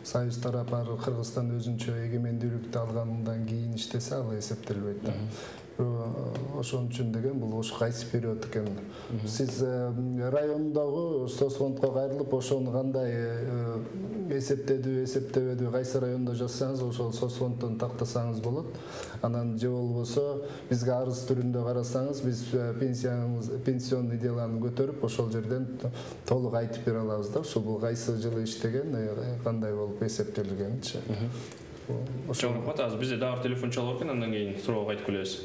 Союз тарапы Кыргызстан өзүнчө эгемендүүлүктү алгандан кийин иштесе, ал эсептелбейт да. Ошон үчүн деген бул ош кайсы период экен. Сиз райондогу соцфондко кайрылып, ошону кандай эсептедүү, эсептебедүү, кайсы райондо жазсаңыз, ошол соцфонддон тактасаңыз болот. Анан же болбосо бизге арыз түрүндө карасаңыз, биз пенсияңыз, пенсионный деланы көтөрүп, ошол жерден толук айтып бере алабыз да. Ошол бул кайсы жылы иштеген, кандай болуп эсептелгенчи. Чоң рахмат. Азыр бизде дагы телефон чалып экен, андан кийин суроого айтып келебиз.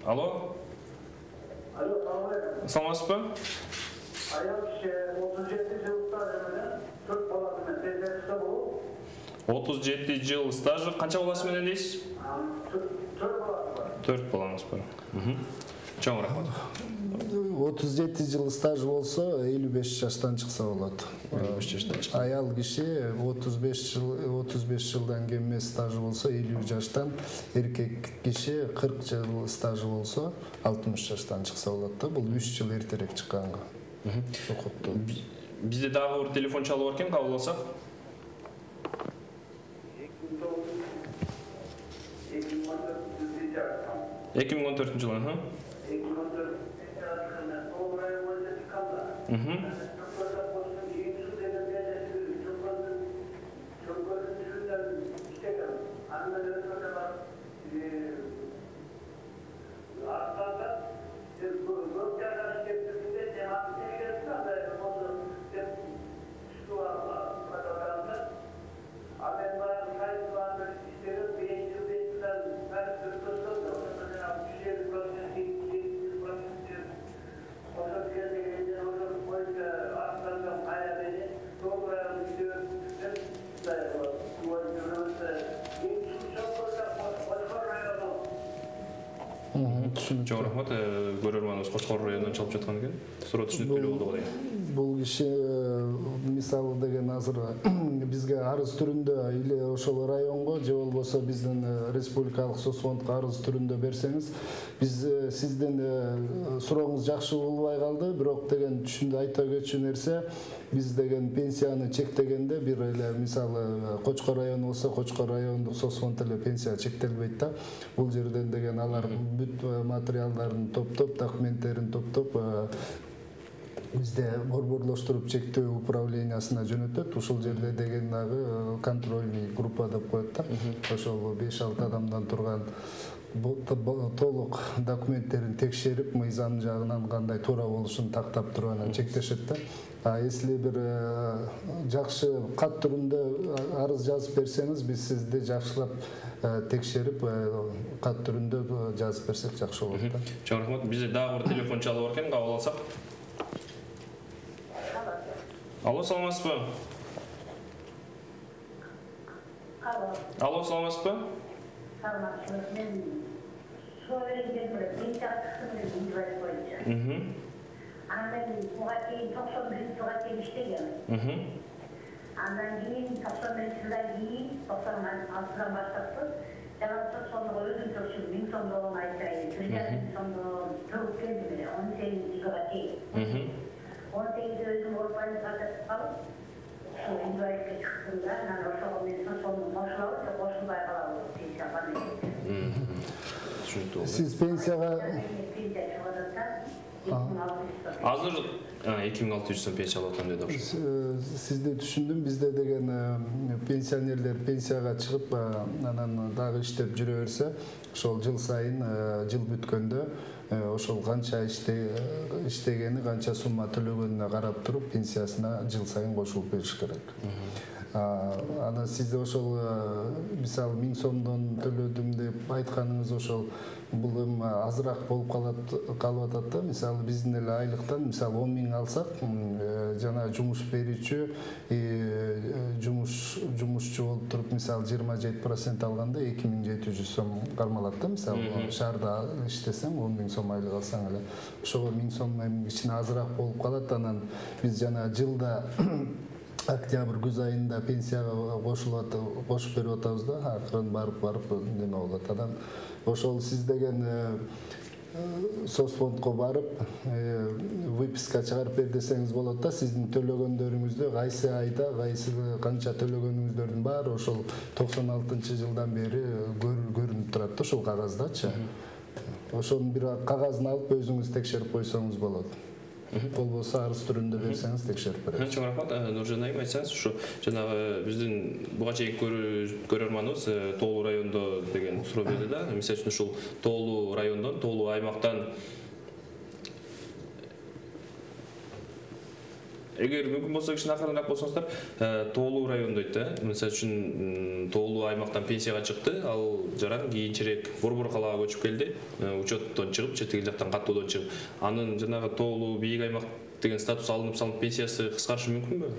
Алло. Алло, саламатсызбы? Аял киши отуз жети жыл стажы менен төрт баласы менен пенсияда болуп. отуз жети жыл стажы, канча баласы менен дейсиз? төрт баласы бар. төрт балаңыз бар. Чоң рахмат. отуз жети жыл стаж болсо, элүү беш жаштан чыкса болот. элүү беш жаштан чыкса. Аял киши отуз беш жыл, отуз беш жылдан кем эмес стажы болсо, элүү жаштан, эркек киши кырк жыл стажы болсо, алтымыш жаштан чыкса болот да. Бул үч жыл эртерээк чыкканга. Укукту. Бизде дагы бир телефон чалып бар экен, кабыл алсак. эки миң он төртүнчү жылы, ха? Мхм. Чоң рахмат, көрөрманыбыз Кочкор районунан чалып жаткан экен. Суроо түшүнүктүү болду го дейм. Бул киши мисалы деген азыр бизге арыз түрүндө или ошол районго же болбосо биздин республикалык соцфондко арыз түрүндө берсеңиз, биз сиздин сурооңуз жакшы болбой калды, бирок деген түшүндү айта кетчү нерсе, биз деген пенсияны чектегенде бир эле мисалы Кочкор району болсо, Кочкор райондук соцфонд эле пенсия чектелбейт да. Бул жерден деген алар бүт материалдарын топтоп, документтерин топтоп бизде борборлоштуруп чектөө управлениясына жөнөтөт. Ушул жерде деген дагы контрольный группа деп коет да. Ошол беш алты адамдан турган толук документтерин текшерип, мыйзам жагынан кандай туура болушун тактап туруп анан чектешет да. А если бир жакшы кат түрүндө арыз жазып берсеңиз, биз сизди жакшылап текшерип кат түрүндө жазып берсек жакшы болот да. Чоң рахмат. Бизде дагы бир телефон чалып бар экен, кабыл алсак. Алло, саламатсызбы? Алло. Алло, саламатсызбы? Саламатсыз. Мен Словенияда бір пенсиясыз инвалид бойынша. Мхм. Андан буга чейин токсон биринчи жылга чейин иштегем. Мхм. Андан кийин токсон биринчи жылдан кийин токсон алтыдан баштап жалпы сонго өзүнчө ушул миң сомдон айтайын. бир жарым миң сомдон төгүп келдим эле он сегизинчи жылга чейин. Мхм. он сегизде өзүм орпаны сатып калып, ушул инвалидке чыктым да, анан ошого мен сомдон кошулабы же кошулбай калабы пенсияга деген. Түшүнүктүү. Сиз пенсияга Пенсия чыгып атат. Азыр эки миң алты жүз сом пенсия алып атам деди ошо. Сизди түшүндүм. Бизде деген пенсионерлер пенсияга чыгып, анан дагы иштеп жүрө берсе, ошол жыл сайын жыл бүткөндө ошол канча иштегени, канча сумма төлөгөнүнө карап туруп, пенсиясына жыл сайын кошулуп бериш керек. Анан сизде ошол мисалы миң сомдон төлөдүм деп айтканыңыз ошол бул эми азыраак болуп калат калып атат да. Мисалы биздин эле айлыктан мисалы он миң алсак, жана жумуш берүүчү жумуш жумушчу болуп туруп мисалы жыйырма жети процент алганда эки миң жети жүз сом кармалат да. Мисалы шаарда иштесең он миң сом айлык алсаң эле ошого миң сом кичине азыраак болуп калат. Анан биз жана жылда октябрь күз айында пенсияга кошулат, кошуп берип атабыз да. Акырын барып барып неме болот. Анан ошол сиз деген соцфондко барып выписка чыгарып бер десеңиз болот да. Сиздин төлөгөндөрүңүздү кайсы айда, кайсы канча төлөгөнүңүздөрдүн баары ошол токсон алтынчы жылдан бери көрүнүп турат да ошол кагаздачы. Ошонун бир кагазын алып өзүңүз текшерип койсоңуз болот. Болбосо арыз түрүндө берсеңиз текшерип беребиз. Чоң рахмат. Нуржан айым, айтсаңыз, ушу жанагы биздин буга чейинки көрөрманыбыз Тоолуу райондо деген суроо берди да. Мисалы үчүн ушул Тоолуу райондон, Тоолуу аймактан эгер мүмкүн болсо кичине акырыныраак болсоңуздар, Тоолуу район дейт да. Мисалы үчүн Тоолуу аймактан пенсияга чыкты, ал жаран кийинчерээк Борбор калаага көчүп келди, учеттон чыгып, четиги жактан каттоодон чыгып, анын жанагы Тоолуу бийик аймак деген статус алынып салынып пенсиясы кыскарышы мүмкүнбү?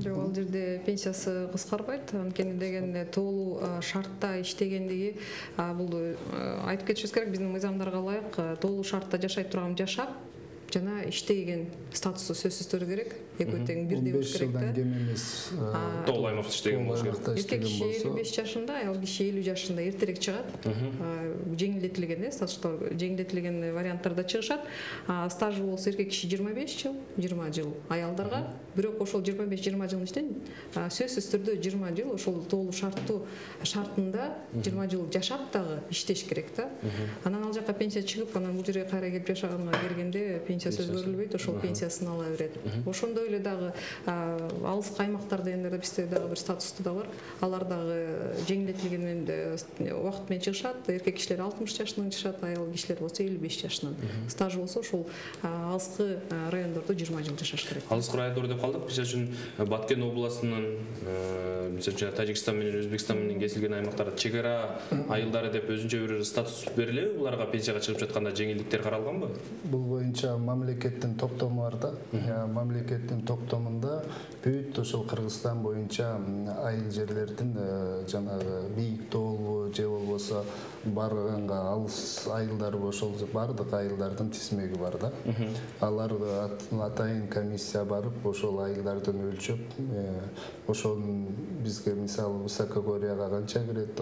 Жок, ал жерде пенсиясы кыскарбайт. Анткени деген Тоолуу шартта иштегендиги бул айтып кетишибиз керек. Биздин мыйзамдарга ылайык Тоолуу шартта жашай турган жашап жана иштеген статусу сөзсүз түрдө керек. Экөө тең бирдей болуш керек да. он беш жылдан кем эмес. Тоолуу аймакта иштеген болуш керек. Эркек киши элүү беш жашында, аял киши элүү жашында эртерээк чыгат. Жеңилдетилген, стаждо жеңилдетилген варианттарда чыгышат. Стажы болсо эркек киши жыйырма беш жыл, жыйырма жыл аялдарга. Бирок ошол жыйырма беш жыйырма жылдын ичинен сөзсүз түрдө жыйырма жыл ошол Тоолуу шарттуу шартында жыйырма жыл жашап дагы иштеш керек да. Анан ал жака пенсия чыгып, анан бул жерге кайра келип жашаганга келгенде пенсиясы өзгөрүлбөйт, ошол пенсиясын ала берет. Ошондой эле дагы алыскы аймактар дегендер бизде дагы бир статусту да бар. Алар дагы жеңилдетилген убакыт менен чыгышат. Эркек кишилер алтымыш жашынан чыгышат, аял кишилер болсо элүү беш жашынан. Стаж болсо ошол алыскы райондордо жыйырма жыл жашаш керек. Алыскы райондор деп калдык. Мисалы үчүн Баткен областынын, мисалы үчүн Тажикстан менен Өзбекстан менен кесилген аймактарда чек ара айылдары деп өзүнчө бир статус берилеби? Буларга пенсияга чыгып жатканда жеңилдиктер каралганбы? Бул боюнча мамлекеттин токтому бар да. Мамлекеттин токтомунда бүт ошол Кыргызстан боюнча айыл жерлердин жанагы бийик тоолуу же болбосо барганга алыс айылдар ошол бардык айылдардын тизмеги бар да. Алар атайын комиссия барып ошол айылдардын өлчөп, ошонун бизге мисалы высокогорьяга канча кирет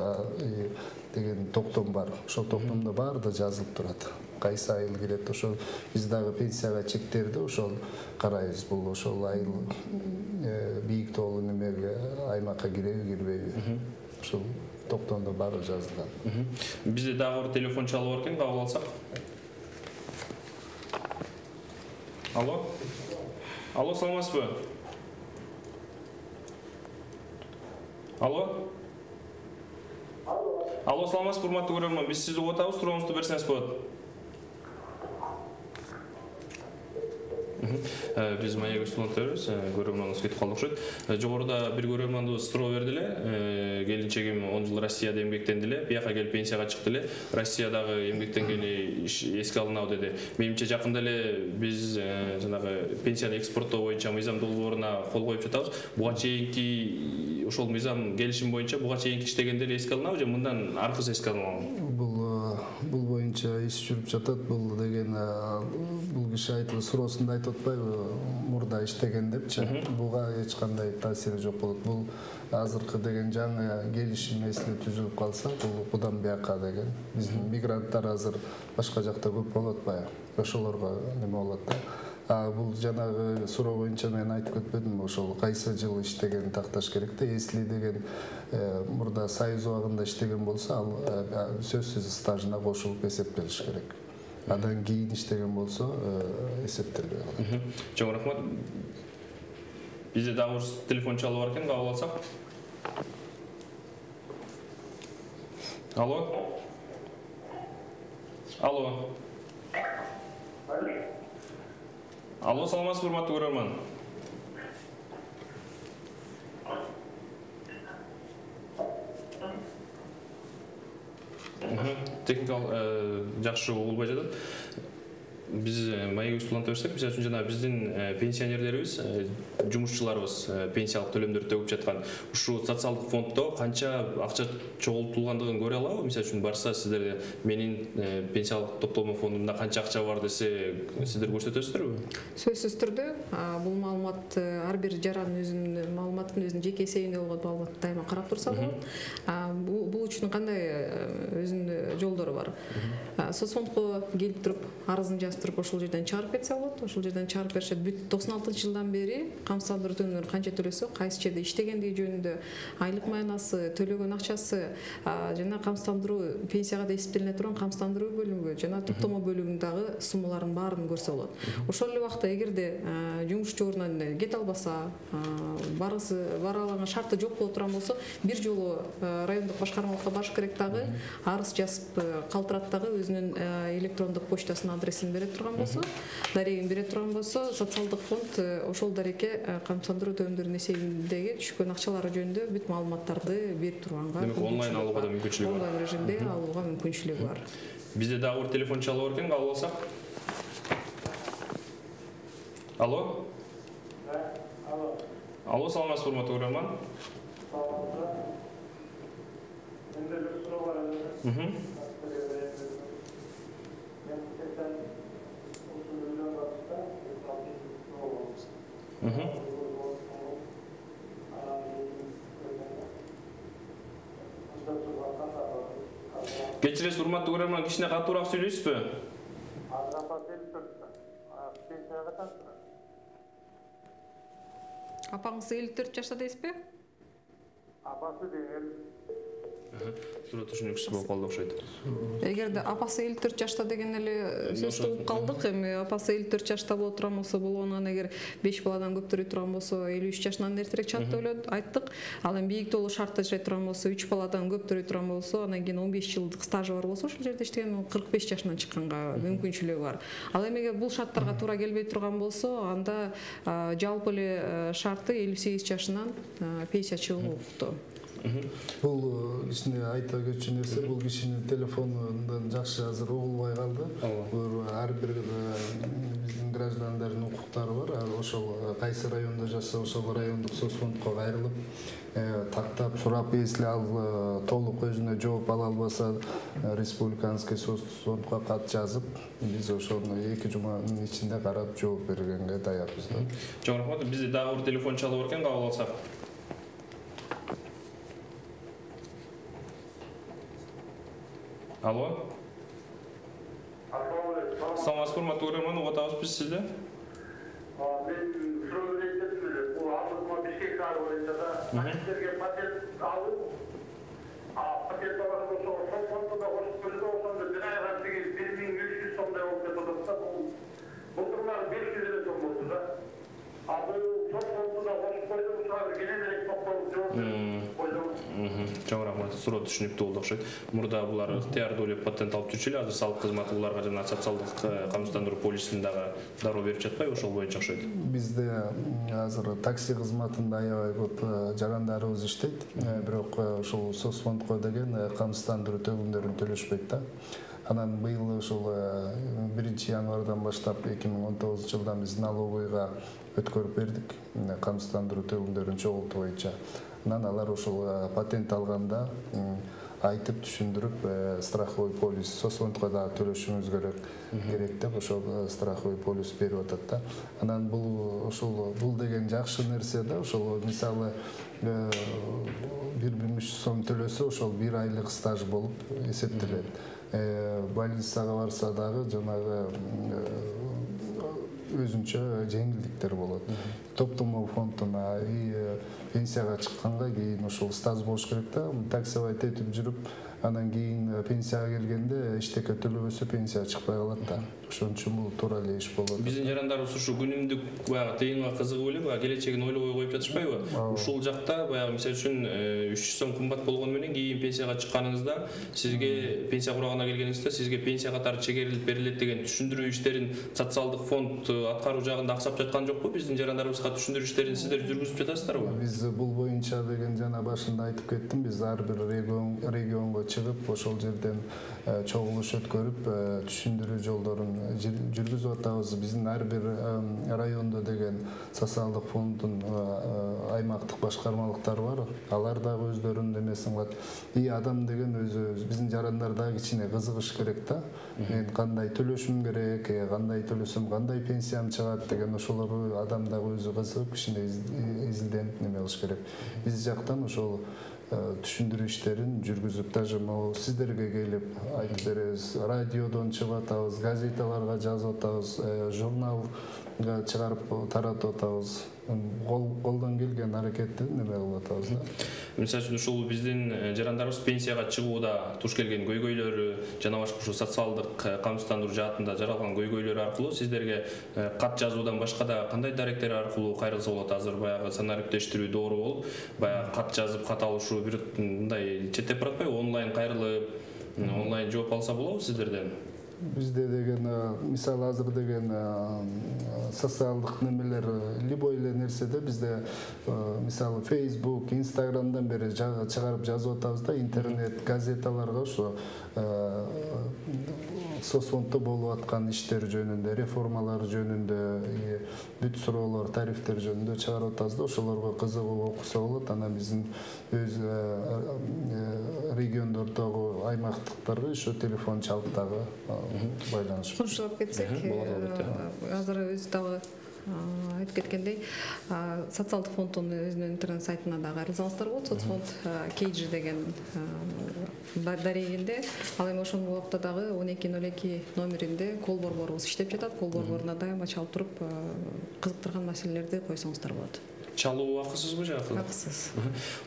деген токтом бар. Ошол токтомдо баары жазылып турат. Кайсы айыл кирет, ошол биз дагы пенсияга чектерди ошол карайбыз. Бул ошол айыл бийик тоолуу немеге аймакка киреби, кирбеби. Ошол токтомдо баары жазылган. Бизде дагы бир телефон чалып бар экен, кабыл алсак. Алло. Алло, саламатсызбы? Алло. Алло, саламатсызбы, урматтуу көрөрман. Биз сизди угуп атабыз, сурооңузду берсеңиз болот. Биз маек студенттерибиз, көрөрманыбыз кетип калды окшойт. Жогоруда бир көрөрманыбыз суроо берди эле. Келинчегим он жыл Россияда эмгектенди эле, бияка келип пенсияга чыкты эле. Россиядагы эмгектенгени эске алынабы деди. Менимче жакында эле биз жанагы пенсияны экспорттоо боюнча мыйзам долбооруна кол коюп жатабыз. Буга чейинки ошол мыйзам келишим боюнча буга чейинки иштегендер эске алынабы же мындан аркысы эске алынабы? Бул бул боюнча иш жүрүп жатат. Бул деген бул киши айтып суроосунда айтып атпайбы, мурда иштеген депчи. Буга эч кандай таасири жок болот. Бул азыркы деген жаңы келишим эсиле түзүлүп калса, бул будан бияка деген биздин мигранттар азыр башка жакта көп болот баягы. Ошолорго неме болот да. А бул жанагы суроо боюнча мен айтып кетпедимби, ошол кайсы жыл иштеген такташ керек да. Эсли деген мурда Союз убагында иштеген болсо, ал сөзсүз стажына кошулуп эсептелиш керек. Андан кийин иштеген болсо эсептелбей калат. Чоң рахмат. Бизде дагы бир телефон чалып бар экен, кабыл алсак. Алло. Алло. Алло, саламатсызбы, урматтуу көрөрман. Техникалык жакшы угулбай жатат. Биз маек студенттер берсек, мисалы үчүн жана биздин пенсионерлерибиз, жумушчуларыбыз пенсиялык төлөмдөрдү төгүп жаткан ушу социалдык фонддо канча акча чогултулгандыгын көрө алабы? Мисалы үчүн барса сиздер менин пенсиялык топтолмо фондумда канча акча бар десе, сиздер көрсөтөсүздөрбү? Сөзсүз түрдө бул маалымат ар бир жарандын өзүнүн маалыматын өзүнүн жеке эсебинде болгон маалыматты дайыма карап турса болот. Бул үчүн кандай өзүнүн жолдору бар? Соцфондко келип туруп арызын жазып туруп ошол жерден чыгарып кетсе болот. Ошол жерден чыгарып беришет. Бүт токсон алтынчы жылдан бери камсыздандыруу төлөмдөрүн канча төлөсө, кайсы жерде иштегендиги жөнүндө, айлык маянасы, төлөгөн акчасы, жана камсыздандыруу пенсияга да эсептелине турган камсыздандыруу бөлүмүгө жана топтомо бөлүгүндөгү суммалардын баарын көрсө болот. Ошол эле убакта эгерде жумушчу ордунан кете албаса, барысы бара алган шарты жок боло турган болсо, бир жолу райондук башкармалыкка барыш керек дагы, арыз жазып калтырат дагы өзүнүн электрондук почтасынын адресин бере турган болсо, дарегин бере турган болсо, социалдык фонд ошол дарекке камсыздандыруу төлөмдөрүнүн эсебиндеги түшкөн акчалары жөнүндө бүт маалыматтарды берип турганга. Демек онлайн алууга да мүмкүнчүлүгү бар. Онлайн режимде алууга мүмкүнчүлүгү бар. Бизде дагы бир телефон чалып бар экен, кабыл алсак. Алло. Алло. Алло, саламатсызбы, урматтуу көрөрман. Менде бир суроо бар эле. Кечиресиз, урматтуу көрөрман, кичине катуураак сүйлөйсүзбү? Апаңыз элүү төрт жашта дейсизби? Апасы деген Суроо түшүнүксүз болуп калды окшойт. Эгерде апасы элүү төрт жашта деген эле сөздү угуп калдык. Эми апасы элүү төрт жашта боло турган болсо, болгону эгер беш баладан көптөрү турган болсо, элүү үч жашынан эртерээк чат деп ойлоп айттык. Ал эми бийиктүүлүк шарты жашай турган болсо, үч баладан көптөрү турган болсо, андан кийин он беш жылдык стажы бар болсо, ошол жерде иштеген кырк беш жашынан чыкканга мүмкүнчүлүгү бар. Ал эми эгер бул шарттарга туура келбей турган болсо, анда жалпы эле шарты элүү сегиз жашынан пенсия чыгуу укуктуу. Бул кичине айта кетчү нерсе, бул кишинин телефонунан жакшы азыр угулбай калды. Бул ар бир биздин граждандардын укуктары бар. Ошол кайсы райондо жашаса, ошол райондук соцфондко кайрылып, тактап сурап, если ал толук өзүнө жооп ала албаса, республиканский соцфондко кат жазып, биз ошону эки жуманын ичинде карап жооп бергенге даярбыз. Чоң рахмат. Бизде дагы бир телефон чалып бар экен, кабыл алсак. Алло. Саламатсызбы, урматтуу көрөрман, угуп атабыз биз сизди. Мен суроо берейин эле. Бул алдырма Бишкек шаары боюнча да сиздерге патент алып, патент алган болсо, ошол фондо да кошуп бөлүп ошондо бир айга бир миң үч жүз сомдой болуп кетип атат да. Бул былтырмары беш жүз эле Чоң рахмат. Суроо түшүнүктүү болду окшойт. Мурда булар ыктыярдуу деп патент алып жүрчү эле, азыр салык кызматы буларга жана социалдык камсыздандыруу полисин дагы дароо берип жатпайбы? Ошол боюнча окшойт. Бизде азыр такси кызматында аябай көп жарандарыбыз иштейт, бирок ошол соцфондко деген камсыздандыруу төлөмдөрүн төлөшпөйт да. Анан быйыл ушул биринчи январдан баштап эки миң он тогузунчу жылдан биз налоговыйга өткөрүп бердик камсыздандыруу төлөмдөрүн чогултуу боюнча. Анан алар ушул патент алганда айтып түшүндүрүп, страховой полис соцфондко дагы төлөшүңүз керек керек деп ошол страховой полис берип атат да. Анан бул ошол бул деген жакшы нерсе да. Ошол мисалы бир миң үч жүз сом төлөсө, ошол бир айлык стаж болуп эсептелет. Больницага барса дагы жанагы өзүнчө жеңилдиктер болот. Топтомоо фондуна пенсияга чыкканга кийин ошол стаж болуш керек да. Таксовать этип жүрүп, анан кийин пенсияга келгенде эчтеке төлөбөсө пенсия чыкпай калат да. Ошон үчүн бул туура эле иш болот. Биздин жарандарыбыз ушу күнүмдүк баягы тыйынга кызыгып эле, баягы келечегин ойлобой коюп жатышпайбы? Ушул жакта баягы мисалы үчүн үч жүз сом кымбат болгону менен кийин пенсияга чыкканыңызда, сизге пенсия курагына келгениңизде сизге пенсия катары чегерилип берилет деген түшүндүрүү иштерин социалдык фонд аткаруу жагында аксап жаткан жокпу? Биздин жарандарыбызга түшүндүрүү иштерин сиздер жүргүзүп жатасыздарбы? Биз бул боюнча деген жана башында айтып кеттим, биз ар бир регион регионго чыгып, ошол жерден чогулуш өткөрүп, түшүндүрүү жолдорун жүргүзүп атабыз. Биздин ар бир райондо деген социалдык фонддун аймактык башкармалыктары бар. Алар дагы өздөрүнүн эмесин кылат. И адам деген өзү биздин жарандар дагы кичине кызыгыш керек да. Мен кандай төлөшүм керек, кандай төлөсөм кандай пенсиям чыгат деген ошолор адам дагы өзү кызыгып кичине изилденип неме кылыш керек. Биз жактан ошол түшүндүрүү иштерин жүргүзүп, даже могу сиздерге келип айтып беребиз. Радиодон чыгып атабыз, газеталарга жазып атабыз, журналга чыгарып таратып атабыз. Колдон келген аракетти неме кылып атабыз да. Мисалы үчүн ушул биздин жарандарыбыз пенсияга чыгууда туш келген көйгөйлөрү жана башка ушул социалдык камсыздандыруу жаатында жаралган көйгөйлөр аркылуу сиздерге кат жазуудан башка да кандай даректер аркылуу кайрылса болот? Азыр баягы санариптештирүү доору болуп, баягы кат жазып, кат алышуу бир мындай четтеп баратпайбы? Онлайн кайрылып, онлайн жооп алса болобу сиздерден? Бизде деген мисалы азыр деген социалдык немелер любой эле нерседе бизде мисалы Facebook, Instagramдан бери чыгарып жазып атабыз да, интернет газеталарга ошо соцфонддо болуп аткан иштер жөнүндө, реформалар жөнүндө, бүт суроолор, тарифтер жөнүндө чыгарып атабыз да, ошолорго кызыгып окуса болот. Анан биздин өз региондордогу аймактыктарга ошо телефон чалып дагы байланыш. Кошулуп кетсек, азыр өз дагы айтып кеткендей, социалдык фонддун өзүнүн интернет сайтына да кайрылсаңыздар болот. Соцфонд Кейджи деген дарегинде, ал эми ошол убакта дагы он эки ноль эки номеринде кол борборубуз иштеп жатат. Кол борборуна дайыма чалып туруп, кызыктырган маселелерди койсоңуздар болот. Чалуу акысызбы же акысыз? Акысыз.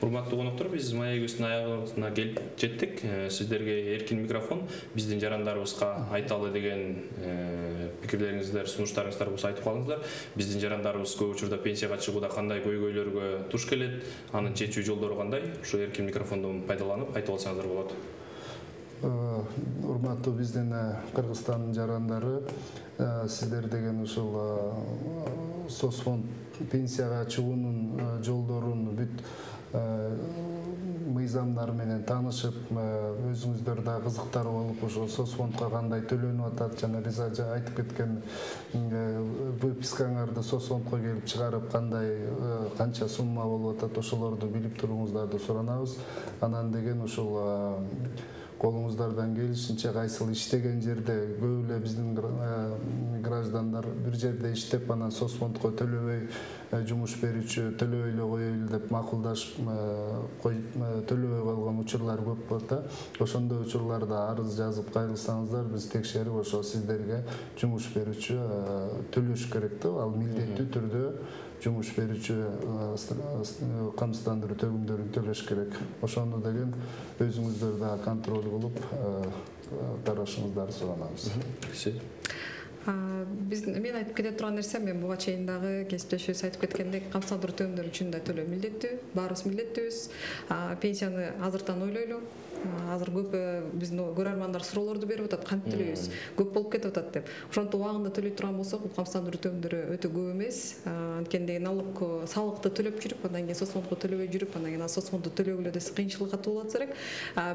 Урматтуу коноктор, биз маегибиздин аягына келип жеттик. Сиздерге эркин микрофон, биздин жарандарыбызга айталы деген пикирлериңиздер, сунуштарыңыздар болсо айтып калыңыздар. Биздин жарандарыбыз көп учурда пенсияга чыгууда кандай көйгөйлөргө туш келет, анын чечүү жолдору кандай? Ушу эркин микрофондон пайдаланып айтып алсаңыздар болот. Урматтуу биздин Кыргызстандын жарандары, сиздер деген ушул соцфонд пенсияга чыгуунун жолдорун бүт мыйзамдар менен таанышып, өзүңүздөр да кызыктар болуп, ошо соцфондко кандай төлөнүп атат, жана Риза айтып кеткен выпискаңарды соцфондко келип чыгарып, кандай канча сумма болуп атат, ошолорду билип туруңуздарды суранабыз. Анан деген ушул колуңуздардан келишинче кайсыл иштеген жерде көп эле биздин граждандар бир жерде иштеп, анан соцфондко төлөбөй жумуш берүүчү төлөбөй эле коелу деп макулдашып төлөбөй калган учурлар көп болот да. Ошондой учурларда арыз жазып кайрылсаңыздар, биз текшерип ошо сиздерге жумуш берүүчү төлөш керек да. Ал милдеттүү түрдө жумуш берүүчү камсыздандыруу төлөмдөрүн төлөш керек. Ошону деген өзүңүздөр да контроль кылып, карашыңыздарды суранабыз. Биздин мен айтып кете турган нерсе, мен буга чейин дагы кесиптешибиз айтып кеткендек, камсыздандыруу төлөмдөрү үчүн да төлөө милдеттүү, баарыбыз милдеттүүбүз. Пенсияны азыртан ойлойлу. Азыр көп биздин көрөрмандар суроолорду берип атат, кантип төлөйбүз, көп болуп кетип атат деп. Ошонтип убагында төлөй турган болсок, бул камсыздандыруу төлөмдөрү өтө көп эмес. Анткени налог, салыкты төлөп жүрүп, андан кийин соцфондго төлөбөй жүрүп, андан кийин соцфондду төлөгүлө десе кыйынчылыкка туулат элек.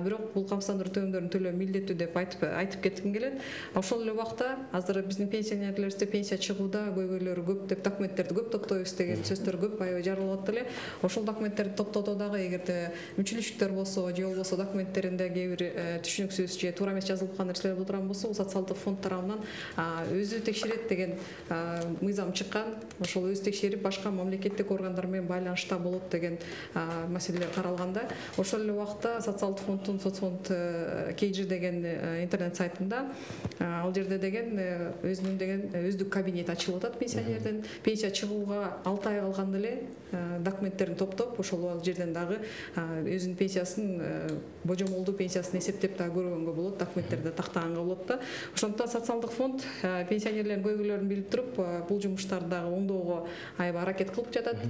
Бирок бул камсыздандыруу төлөмдөрүн төлөө милдеттүү деп айтып айтып кетким келет. Ошол эле убакта азыр биздин пенсионерлерибизде пенсия чыгууда көйгөйлөр көп деп, документтерди көп топтойбуз деген сөздөр көп аябай жаралып эле. Ошол документтерди топтоодо дагы эгерде мүчүлүштөр болсо, же болбосо документтеринде кээ бир түшүнүксүз же туура эмес жазылып калган нерселер боло турган болсо, бул социалдык фонд тарабынан өзү текшерет деген мыйзам чыккан. Ошол өзү текшерип, башка мамлекеттик органдар менен байланышта болот деген маселелер каралганда, ошол эле убакта социалдык фонддун соцфонд кейжи деген интернет сайтында ал жерде деген өзүнүн деген өздүк кабинет ачылып атат пенсионердин. Пенсия чыгууга алты ай калганда эле документтерин топтоп, ошол жерден дагы өзүнүн пенсиясын, божомолдуу пенсиясын эсептеп дагы көргөнгө болот, документтерди тактаганга болот да. Ошондуктан социалдык фонд пенсионерлердин көйгөйлөрүн билип туруп, бул жумуштарды дагы оңдоого аябай аракет кылып жатат.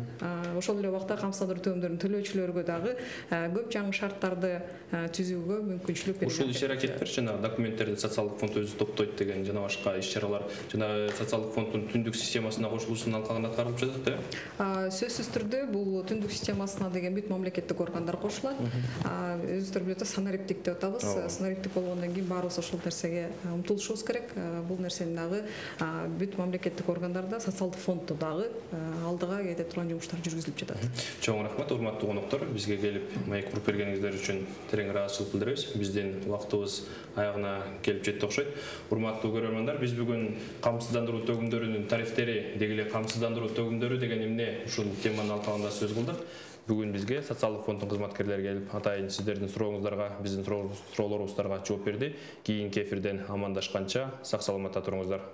Ошол эле убакта камсыздандыруу төлөмдөрүн төлөөчүлөргө дагы көп жаңы шарттарды түзүүгө мүмкүнчүлүк берет. Ушул иш-аракеттер жана документтерди социалдык фонд өзү топтойт деген жана башка иш-чаралар жана социалдык фонддун түндүк системасына кошулуусунун алкагында аткарылып жатат э? Сөзсүз түрдө бул түндүк системасына деген бүт мамлекеттик органдар кошулат. Өзүңүздөр билип атасыз, санариптик деп атабыз. Санариптик болгондон кийин баарыбыз ошол нерсеге умтулушубуз керек. Бул нерсени дагы бүт мамлекеттик органдарда, социалдык фонддо дагы алдыга кете турган жумуштар жүргүзүлүп жатат. Чоң рахмат, урматтуу коноктор. Бизге келип маек куруп бергениңиздер үчүн терең ыраазычылык билдиребиз. Биздин убактыбыз аягына келип жетти окшойт. Урматтуу көрөрмандар, биз бүгүн камсыздандыруу төгүмдөрүнүн тарифтери, деги эле камсыздандыруу төгүмдөрү деген эмне ушул теманын алкагында сөз кылдык. Бүгүн бизге социалдык фонддун кызматкерлери келип, атайын сиздердин сурооңуздарга, биздин суроолорубуздарга жооп берди. Кийинки эфирден амандашканча сак саламатта туруңуздар.